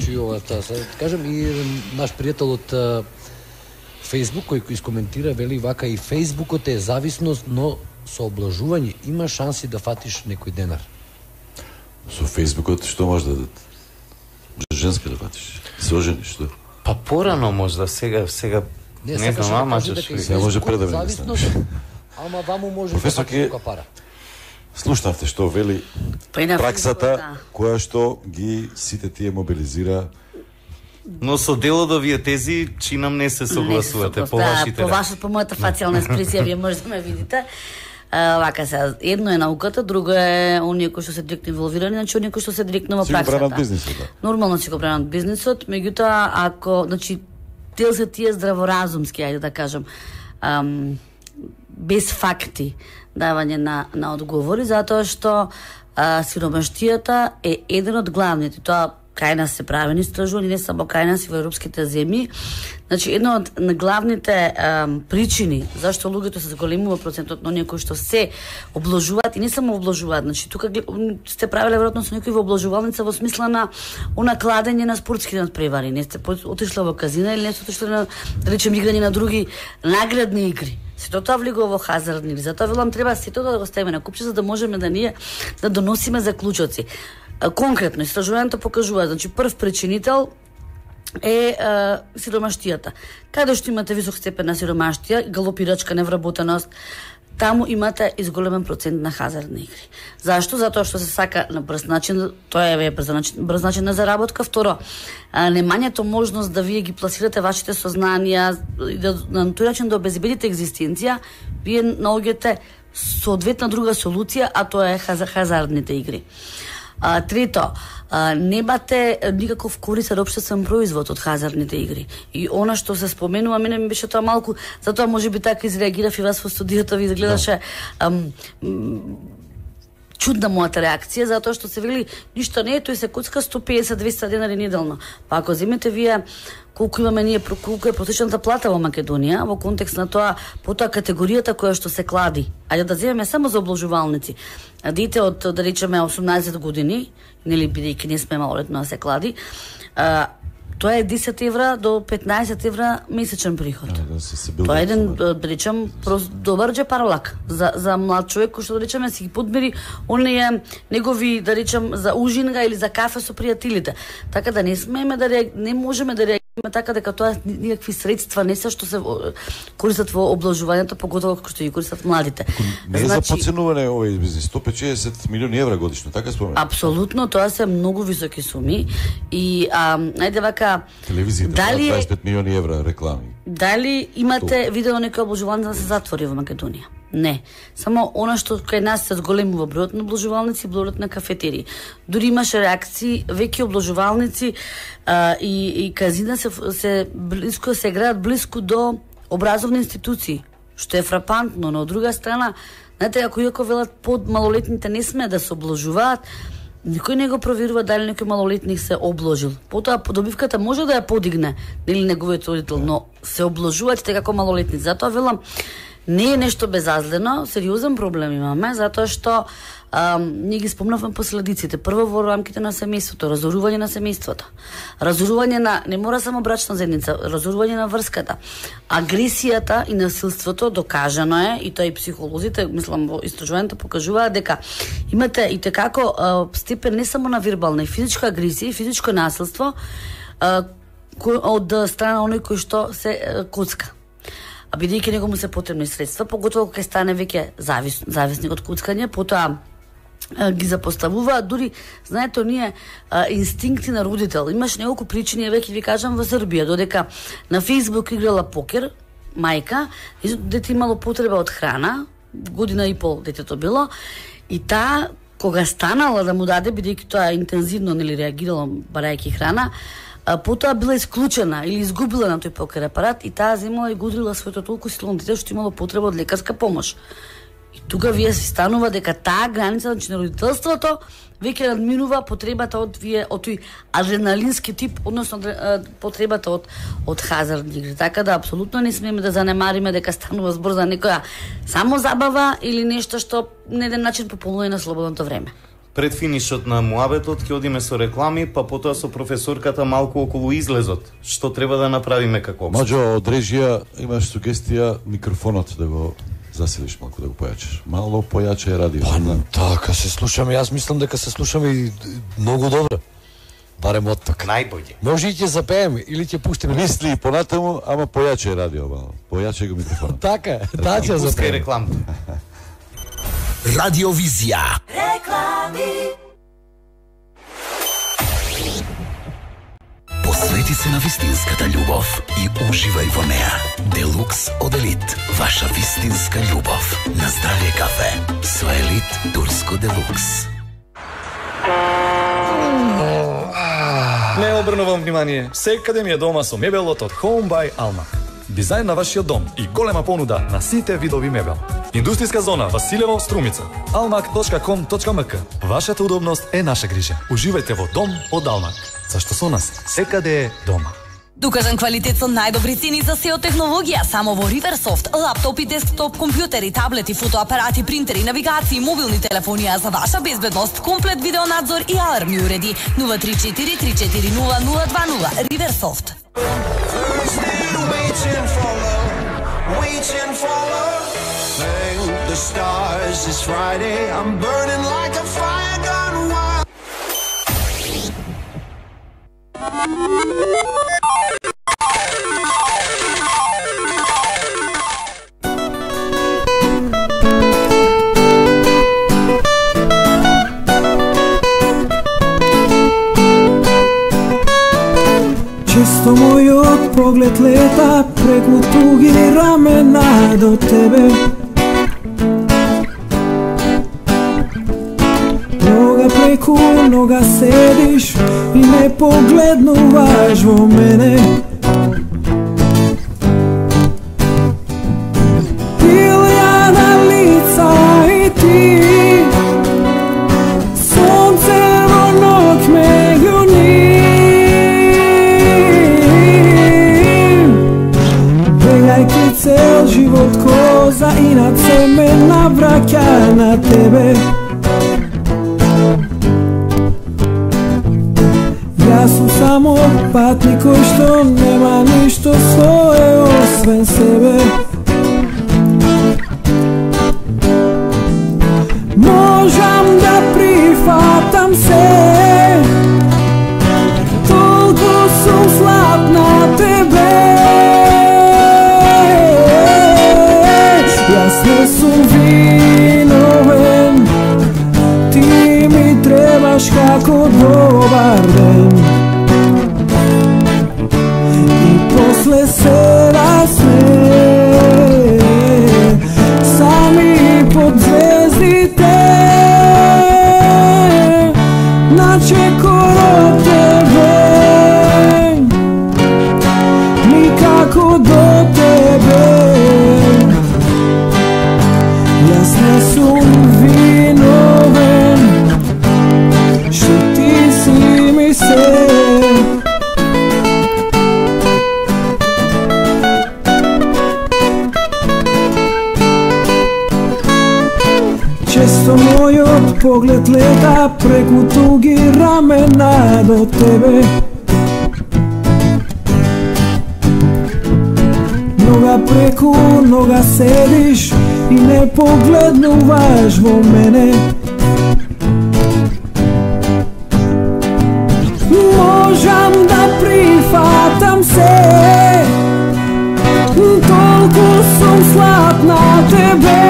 Чи ова тоа се кажам и наш пријател од Facebook кој искоментира вели вака и Фејсбукот е зависност, но со облажување има шанси да фатиш некој денар. Со Фејсбукот што може да дадат? Женска да фатиш? Се ожени, што? Па порано можда, сега Не знам, ама се може предавно. Ама ваму може професор да фати пара. Слушнавте што вели праксата која што ги сите тие мобилизира. Но со дел од овие тези чинам не се согласувате по вашите. По мојата фацијална експресија вие можете да ме видите. Вака се, едно е науката, друго е оние кои што се директно инволвирани, значи оние кои што се директно во праксата. Си го бранат бизнисот, да. Нормално си го бранат бизнисот, меѓутоа ако, значи дел се тие здраворазумски, ајде да кажам, без факти давање на одговори, затоа што сиромаштијата е еден од главните. Тоа кај нас се правени истражувања, не само кај нас и во европските земји. Значи, една од главните причини зашто луѓето се зголемува процентот на оние кои што се обложуваат и не само обложуваат. Значи, тука сте правеле веројатно со некој во обложувалница во смисла на кладење на спортски надпревари. Не сте отишла во казина или не сте отишла на, да речем, играње на други наградни игри. Сето тоа влегува во хазардни игри. Затоа велам треба сето да го ставиме на купче за да можеме да ние да доносиме заклучоци. Конкретно истражувањето покажува, значи прв причинител е сиромаштијата. Каде што имате висок степен на сиромаштија, галопирачка невработеност, таму имате изголемен процент на хазардни игри. Зашто? Затоа што се сака на брз начин, тоа е брз начин на заработка. Второ, немањето можност да вие ги пласирате вашите сознанија и да на тој начин да обезбедите екзистенција, вие наоѓате соодветна друга солуција, а тоа е хазардните игри. Трето, немате никаков корисен општествен производ од хазардните игри. И она што се споменува, мене ми беше тоа малку, затоа можеби така изреагирав и вас во студиото, ви изгледаше чудна мојата реакција, затоа што се вели ништо не е, тој се коцка 150-200 денари неделно. Па ако земете вие колку имаме ние, колку е просечната плата во Македонија, во контекст на тоа, потоа категоријата која што се клади, ајде да земеме само за обложувалници, дете од, да речеме, 18 години, нели бидејќи не сме малолетно да се клади, Тоа е 10 евра до 15 евра месечен приход. Тоа е еден, да речем, добар джепарлак за млад човек кој што да речеме си ги подмери оние негови, да речем, за ужинга или за кафе со пријателите. Така да не смееме да не можеме да реагираме така дека тоа никакви средства не се што се користат во обложувањето, поготово како што ги користат младите. Не е за подценување овој бизнис, 150 милиони евра годишно, така споменам. Апсолутно, тоа се многу високи суми и ајде вака телевизијата, дали 25 милиони евра реклами. Дали имате видено некој обложување да се затвори во Македонија? Не. Само она што кај нас се зголемува бројот на обложувалници и бројот на кафетерии. Дури имаше реакции, веќе обложувалници и казина се близко се граат близко до образовни институции, што е фрапантно, но од друга страна, знаете, ако иако велат под малолетните не сме да се обложуваат, никој не го проверува дали некој малолетник се обложил. Потоа добивката може да ја подигне, нели неговиот родител, но се обложуваат како малолетници. Затоа велам, не е нешто безазлено, сериозен проблем имаме, затоа што ние ги спомнавме последиците. Прво во рамките на семејството, разорување на семејството, разорување на, не мора само брачна заедница, разорување на врската, агресијата и насилството, докажано е, и тоа и психолозите, мислам, во истражувањето покажуваат дека имате и tekako степен не само на вербална и физичка агресија и физичко насилство од страна оној кој што се коцка. А бидејќи него му се потребни средства, поготово кога стане веќе зависник од коцкање, потоа ги запоставуваат, дури, знаете, оние инстинкти на родител. Имаш неколку причини, веќе ви кажам, во Србија, додека на Facebook играла покер, мајка, дете имало потреба од храна, година и пол детето било, и таа, кога станала да му даде, бидејќи тоа интензивно нели реагирала барајќи храна, потоа била исклучена или изгубила на тој покер апарат и таа земала и гудрила своето толку силно дете што имало потреба од лекарска помош. И тука вие се станува дека таа граница на родителството веќе надминува потребата од тој адреналински тип, односно потребата од хазардни игри. Така да апсолутно не смееме да занемариме дека станува збор за некоја само забава или нешто што на еден начин пополнува на слободното време. Пред финишот на муабетот ќе одиме со реклами, па потоа со професорката малку околу излезот. Што треба да направиме како опција? Маđo, од режија имаш сугестија микрофонот да го засилиш малку, да го појачаш. Мало појачај радио. Така се слушаме, јас мислам дека се слушаме и многу добро. Барем од тука. Најбоље. Може и ќе запееме или ќе пуштиме. Мисли понатаму, ама појачај радио мало. Појачај го микрофонот. Така, да ќе запееме. Рекламата. Радиовизија. Реклами. Посвети се на вистинската љубов и уживај во неа. Делукс од Елит. Ваша вистинска љубов. На здравје кафе. Со Елит Турско Делукс. Не обрнувам внимание. Секаде ми е дома со мебелот од Home by Almac. Дизајн на вашиот дом и голема понуда на сите видови мебел. Индустријска зона Василево, Струмица. almac.com.mk. Вашата удобност е наша грижа. Уживајте во дом од Almac. Зашто со нас секаде е дома. Докажан квалитет со најдобри цени за сео технологија само во Riversoft. Лаптопи, десктоп, компјутери, таблети, фотоапарати, принтери, навигации, мобилни телефони, а за ваша безбедност, комплет видеонадзор и алармни уреди. 034 340 0020. Riversoft. Waiting for love. Thank the stars, it's Friday. I'm burning like a fire gone wild. Често мојот поглед лета преку туги рамена до тебе. Нога преку нога седиш и не погледнуваш во мене. Илјада лица и ти, сонце во ноќ меѓу нив. Бегајќи цел живот коза и над се ме навраќа на тебе. Јас сум само патник кој што нема ништо свое освен себе. Можам да прифатам се, толку сум слаб на тебе. Јас не сум виновен, ти ми требаш како добар ден. И после се расме, сами под звездите, начекоро тебе, никако до тебе. Јас не сум виновен, што ти си ми се. Често мојот поглед лета преку туги рамена до тебе. Нога преку нога седиш и не погледнуваш во мене. Можам да прифатам се, толку сум слаб на тебе.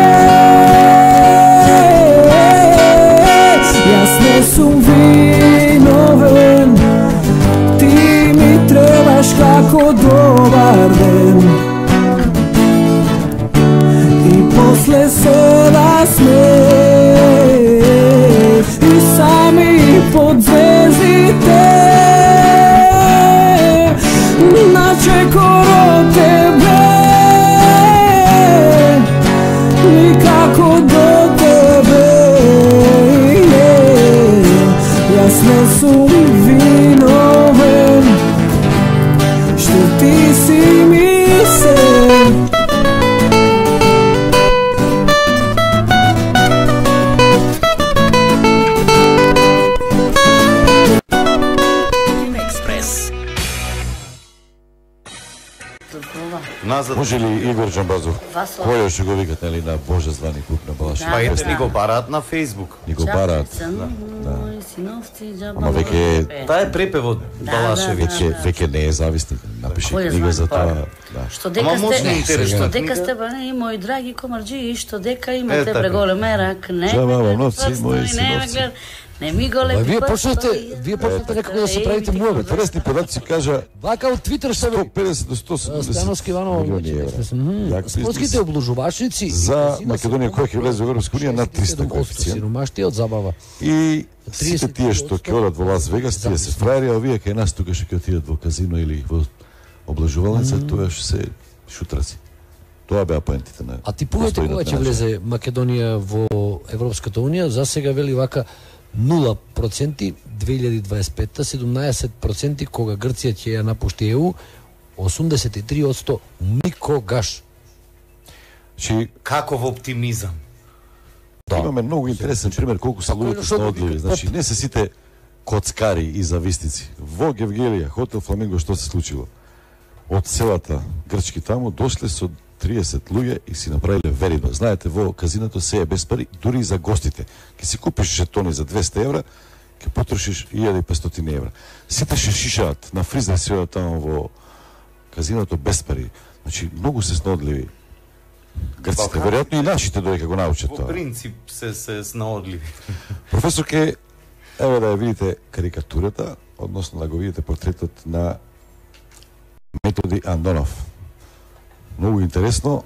Јас не сум виновен, ти ми требаш како добар ден. И после се расмееш и сами под звездите, начекоро тебе, никако до тебе. Јас не сум виновен, што ти си ми се. Назад. Може ли Игор Джамбазов, кој ќе го викат нели на Божезвани клуб на Балаш? Па ете ни го бараат на Facebook. Ни го бараат. Ама веќе таа е препев од Балашевиќ. Веќе не е зависник. Напиши книга за тоа. Што дека сте бани мои драги комарџи, што дека имате преголеме рак, не. Жабава новци мои синовци. Не ми големи. Вие почнете некако да се правите муавет. Интересни податци кажа. Вака од Твитер што 150 до 170 Становски Иванов, спортските облужувачници за Македонија која ќе влезе во Европска унија на 300 коефициент. Сиромаштија од забава. И сите тие што ќе одат во Лас Вегас, тие се фраери, а овие кај нас тука што ќе отидат во казино или во облажувалница, тоа што се шутраци. Тоа беа поентите на. А типувате кога ќе влезе Македонија во Европската унија, за сега вели вака 0% 2025-та, 17% кога Грција ќе ја напушти ЕУ, 83% никогаш. Каков оптимизам. Да. Имаме многу интересен пример колку се луѓето снаодливи. Значи не се сите коцкари и зависници. Во Гевгелија, хотел Фламинго, што се случило? Од селата грчки таму дошле со 30 луѓе и си направиле верино. Знаете, во казиното се е без пари, дури и за гостите. Ке си купиш жетони за 200 евра, ке потрошиш 1500 евра. Сите ше шишаат на фризер си одат таму во казиното без пари. Значи, многу се снаодливи грците, веројатно и нашите додека го научат тоа. Во принцип се снаодливи. Професорке, ево да ја видите карикатурата, односно да го видите портретот на Методи Андонов. Многу интересно,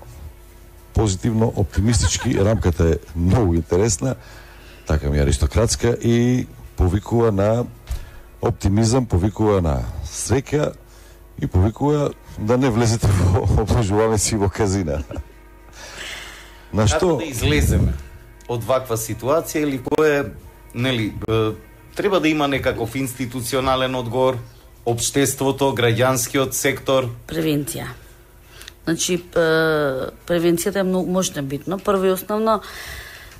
позитивно, оптимистички, рамката е многу интересна, така ми аристократска и повикува на оптимизам, повикува на среќа и повикува да не влезете во облажувалници во казина. На што како да излеземе од ваква ситуација или кој нели треба да има некаков институционален одговор, општеството, граѓанскиот сектор, превенција. Значи, превенцијата е многу мощно битно. Прво и основно,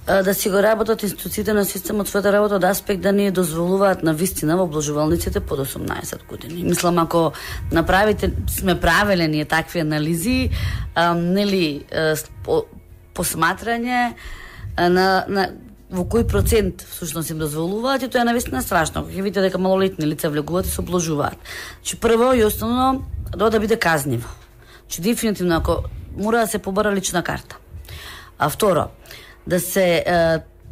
да си го работат институциите на системот својата работа од аспект да не дозволуваат на вистина во обложувалниците под 18 години. Мислам, ако сме правеле ние такви анализи, нели посматрање на во кој процент всушност им дозволуваат, и тоа е навистина страшно. Кога ќе видите дека малолетни лица влегуваат и се обложуваат. Значи прво и основно да биде казниво. Значи дефинитивно ако мора да се побара лична карта. А второ, да се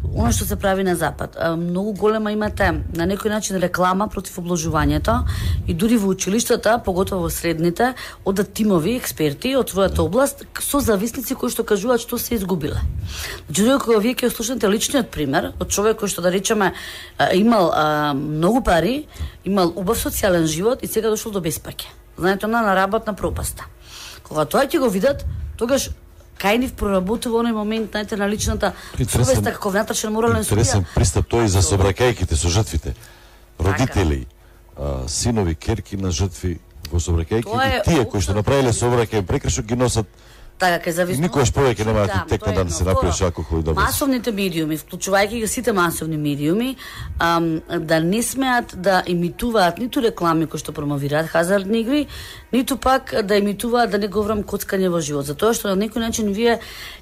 оно што се прави на запад. Многу голема имате на некој начин реклама против обложувањето и дури во училиштата, поготово во средните, одат тимови експерти од својата област со зависници кои што кажуваат што се изгубиле. Значи, кога вие ќе слушнете личниот пример од човек кој што да речеме имал многу пари, имал убав социјален живот и сега дошол до беспаќе. Знаете, на работна пропаста. Кога тоа ќе го видат, тогаш кај нив проработува оној момент, знаете, на личната совеста како внатрешен морален судија. Интересен пристап тој за собракајките со жртвите. Родители, синови, керки на жртви во собракајки и тие кои што направиле собракај прекршок ги носат. Така, кај зависно. Никогаш повеќе нема да ти текне да се напиеш алкохол и да без. Масовните медиуми, вклучувајќи ги сите масовни медиуми, да не смеат да имитуваат ниту реклами кои што промовираат хазардни игри, ниту пак да имитуваат, да не говорам, коцкање во живот. Затоа што на некој начин вие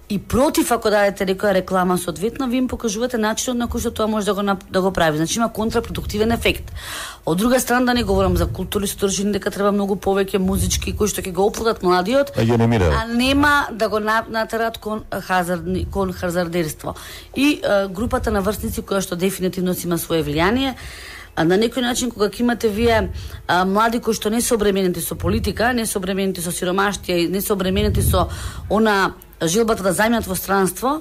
и против, ако дадете некоја реклама соодветно, ви им покажувате начинот на кој што тоа може да го прави. Значи има контрапродуктивен ефект. Од друга страна, да не говорам за културни содржини, дека треба многу повеќе музички кои што ќе го оплодат младиот, а нема да го натерат кон хазардерство. И групата на врсници која што дефинитивно си има свое влијание, на некој начин кога ќе имате вие млади кои што не се обременети со политика, не се обременети со сиромаштија, не се обременети со она жилбата да зајмат во странство,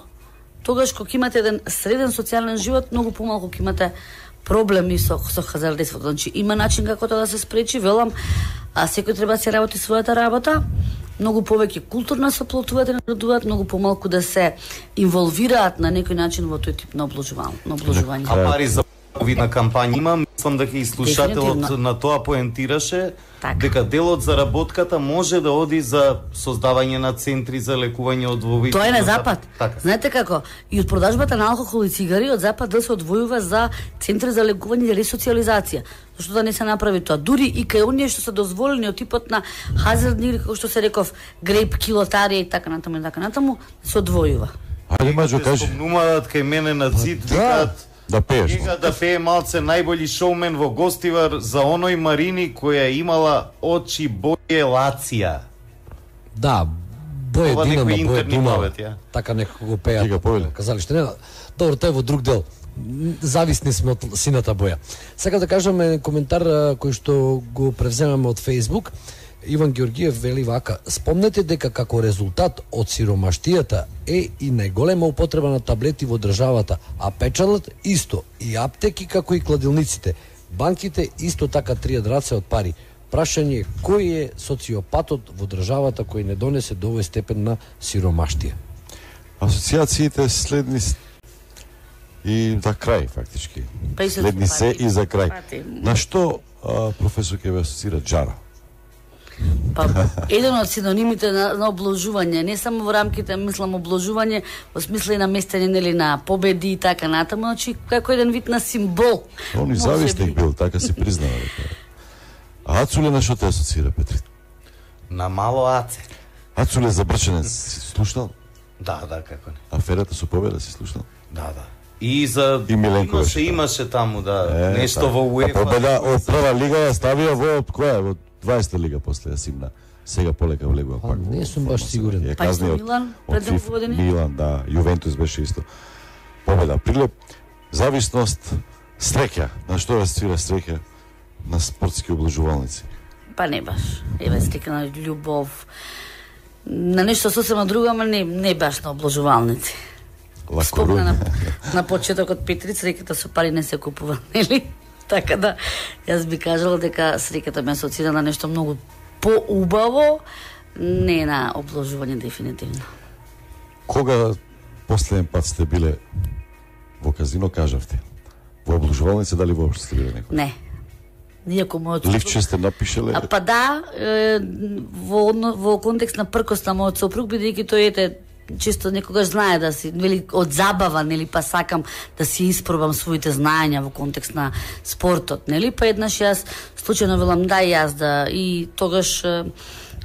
тогаш кога имате еден среден социјален живот, многу помалку ќе имате проблеми со хазардерството. Значи има начин како тоа да се спречи, велам, секој треба да се работи својата работа, многу повеќе културно се оплотуваат и наредуваат, многу помалку да се инволвираат на некој начин во тој тип на обложување. А пари за видна кампања има, мислам дека и слушателот на тоа поентираше, дека дел од заработката може да оди за создавање на центри за лекување од вовид. Тоа е на запад. Знаете како? И од продажбата на алкохол и цигари од запад да се одвојува за центри за лекување и ресоциализација. Зашто да не се направи тоа? Дури и кај оние што се дозволени од типот на хазардни игри, како што се реков, грейп, килотарија и така натаму, се одвојува. Ајде Маџо кажи. Спомнуваат кај мене на ЦИД, викаат да пееш. Да пее малце најбољи шоумен во Гостивар за оној Марини која имала очи боје лација. Да, боје Динамо, боје Дунаво. Така некако го пеат. Казалиште, не, добро, тоа е во друг дел. Зависни сме од сината боја. Сега да кажеме коментар кој што го превземаме од Facebook. Иван Георгиев вели вака: спомнете дека како резултат од сиромаштијата е и најголема употреба на таблети во државата, а печалот исто, и аптеки како и кладилниците. Банките исто така тријат раце од пари. Прашање е кој е социопатот во државата кој не донесе до овој степен на сиромаштија? Асоциациите следни и за крај фактички. Следни се и за крај. На што професор ќе ве асоцира Джара? Па, еден од синонимите на обложување, не само во рамките, мислам, обложување, во смисла и на местење, нели, на победи и така натаму, значи, како еден вид на символ. Он и зависник бил, така си признава. А Ацуле на што те асоцира, Петри? На мало Аце. Ацуле за Брчанец си слушнал? Да, како не. Аферата со Победа си слушнал? Да. И за имаше таму, да, нешто во УЕФА. Победа од прва лига ја ставија во која? Во 20-та лига после ја симна. Сега полека влегува пак. Не сум баш сигурен. Па исто Милан пред 2 години. Милан, да, Јувентус беше исто. Победа. Прилеп, зависност, среќа. На што свира среќа? На спортски обложувалници. Па не баш. Еве стика на љубов. На нешто сосема друго, ама не баш на обложувалници. Спомна на почетокот Петри, среќата со пари не се купува, нели? Така да, јас би кажала дека среќата ме асоцира на нешто многу поубаво, не на обложување дефинитивно. Кога последен пат сте биле во казино, кажавте? Во обложувалница, дали воопшто сте биле некој? Не. Иако мојот сопруг... Ливче сте напишеле? Па да, во контекст на пркост на мојот сопруг, бидејќи тој чисто некогаш знае да си, нели, од забава, нели, па сакам да си испробам своите знаења во контекст на спортот, нели, па еднаш јас случајно велам да јас да, и тогаш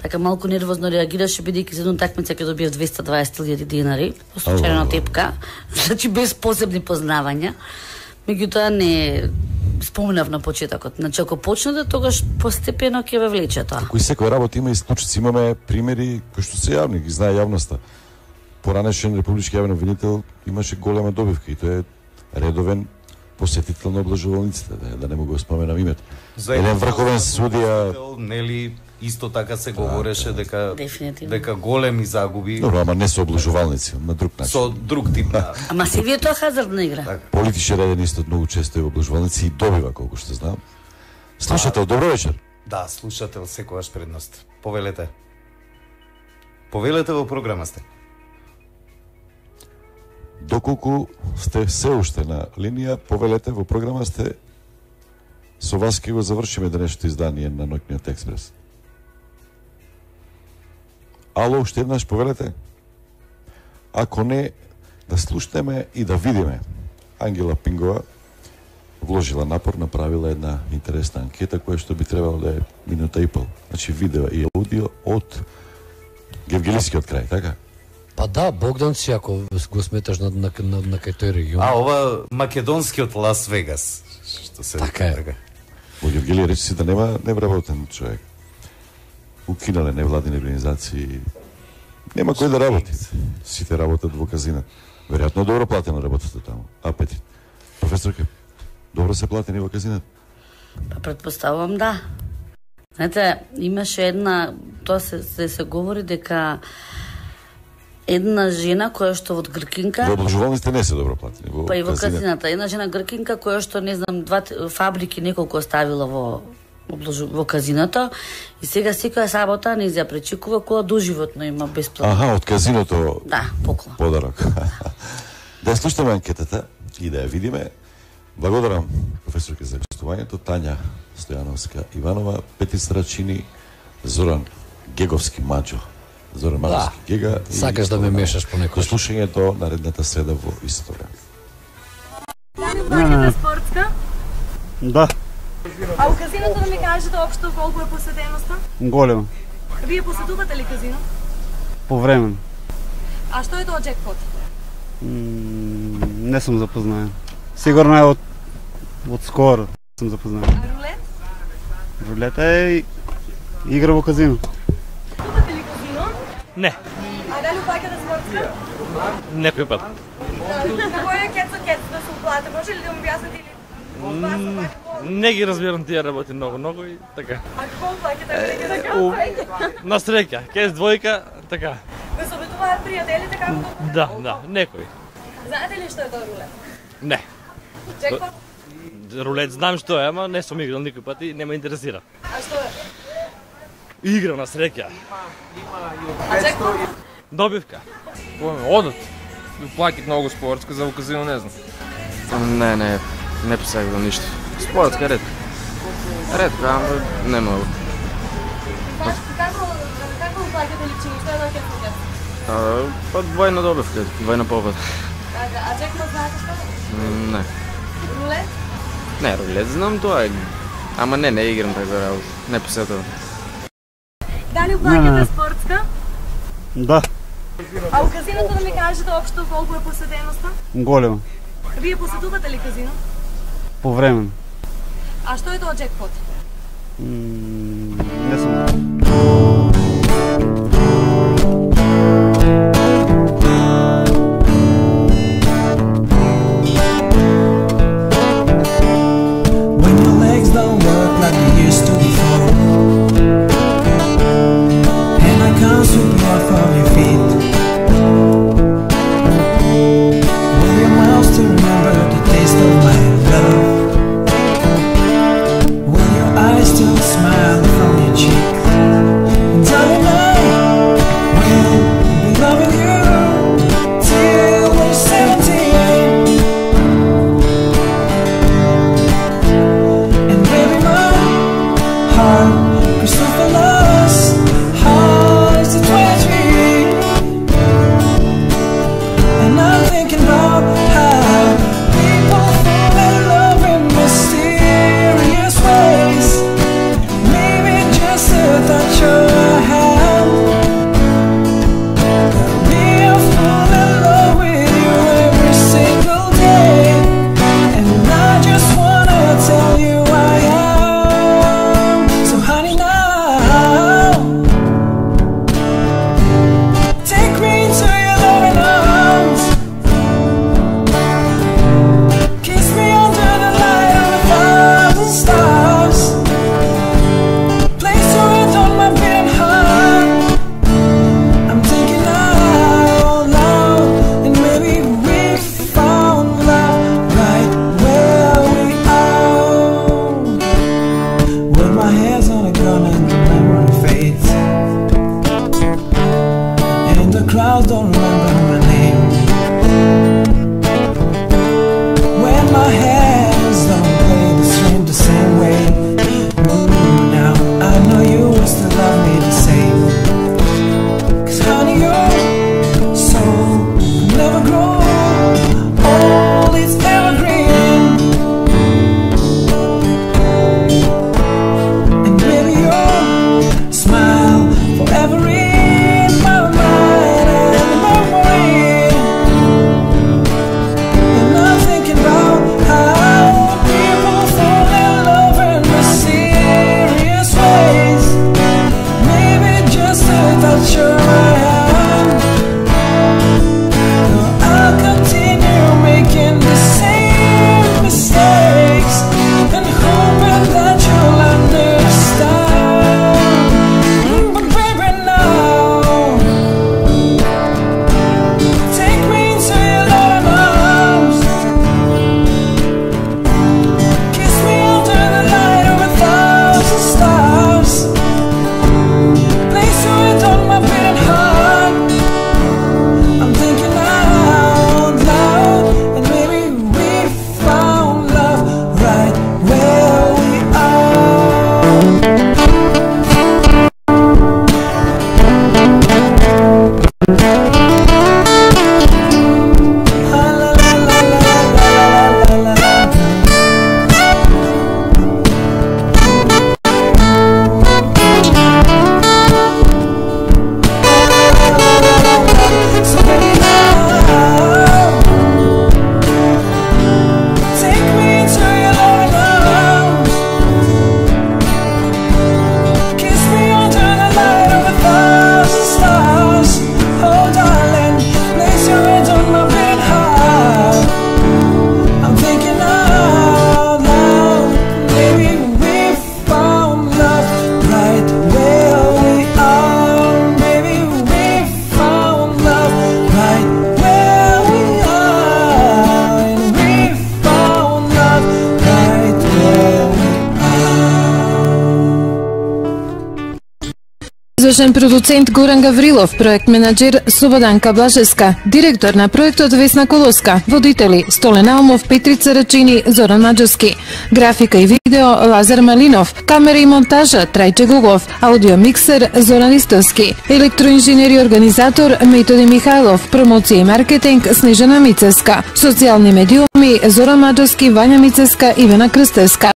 така малку нервозно реагираше, бидејќи за едно такмица ќе добиев 220.000 динари, по случајна тепка, значи без посебни познавања. Меѓутоа не спомнав на почетокот. Значи ако почнете, тогаш постепено ќе ве влече тоа. Кој секој работа има исклучици, имаме примери кои што се јавни, ги знае јавноста. Поранешен републички јавен обвинител имаше голема добивка и тој е редовен посетител на облажувалниците, да не му го споменам името. Еден врховен судија, нели исто така се говореше дека големи загуби. Добро, ама не со облажувалници, на друг начин. Со друг тип на. Ама се вие тоа хазардна игра. Политичар еден исто многу често е во облажувалници и добива колку што знам. Слушател, добро вечер. Да, слушател секогаш предност. Повелете. Повелете во програма сте. Доколку сте се уште на линија, повелете во програма сте. Со вас ќе го завршиме денешното издание на Ноќниот експрес. Ало, уште еднаш повелете? Ако не, да слушнеме и да видиме. Ангела Пингова вложила напор, направила една интересна анкета, која што би требало да е минута и пол. Значи видео и аудио од Гевгелискиот крај, така? Па да, Богдан си, ако го сметаш на кај тој регион. А ова македонскиот Лас Вегас. Што се така е. Во Гевгелија речи си да нема невработен човек. Укинале невладини организации. Нема кој да работи. Сите работат во казина. Веројатно добро платена работата таму. Апетит. Професорке, добро се платени во казинат? Предпоставувам да. Знаете, имаше една, тоа се говори дека една жена која што од Гркинка... Во облажувалниците не се добро платени. Па и во казината. Една жена Гркинка која што, не знам, фабрики неколку оставила во казиното и сега секоја сабота не ја пречекува кола доживотно има бесплатно. Аха, од казиното. Да, поклон. Подарок. Да ја слушаме анкетата и да ја видиме. Благодарам професорке за гостувањето, Тања Стојановска Иванова, Пети Страчини, Зоран Геговски Маџо. Зоран Маџовски Гега. Сакаш да ме мешаш по некој. До слушањето наредната среда во историја. Плаќате спортска? Да. А у казиното да ми кажете општо колку е посетеноста? Голема. Вие посетувате ли казино? Повремено. А што е тоа джекпот? Не сум запознаен. Сигурно е од скоро сум запознаен. А рулет? Рулет е игра во казино. Посетувате ли казино? Не. А дали плаќате спортска? Некој пат. На кој е кец да се уплате? Може ли да ми објасните или Не ги разбирам тие работи многу и така. А колку плаќате така? На среќа, кез двојка, така. Ве советуваат пријателите како Да, некој. Знаете ли што е тоа рулет? Не. Джекпот? Рулет знам што е, ама не сум играл никој пат и не ме интересира. А што е? Игра на среќа. А джекпот? Добивка. Одат. Плакат многу спортска, за казино не знам. Не посегувам ништо. Спортска ретко. Ретко, ама не многу. Како плаќате личини? Што е тоа кец? Па двојна добивка, двојна победа. А джекпот знаете што? Не. Рулет? Не, рулет знам тоа. Ама не играм така работа. Не посетувам. Дали плаќате спортска? Да. А у казиното да ми кажете општо колку е посетеноста? Голема. Вие посетувате ли казино? Повремено. А што е тоа джекпот? Не сум. When your legs don't work like they used to before, and I can't sweep you off of your feet, will your mouth still remember the taste of my love? Will your eyes still smile from your cheek? Звучен продуцент Горан Гаврилов, проект менаџер Слободанка Блажеска, директор на проектот Весна Колоска, водители Столен Алмов, Петрица Рачини, Зоран Маџевски, графика и видео Лазар Малинов, камера и монтажа Трајче Гугов, аудио миксер Зоран Истовски, електроинженер и организатор Методи Михајлов, промоција и маркетинг Снежана Мицеска, социјални медиуми Зоран Маџевски, Вања Мицеска, Ивана Крстевска.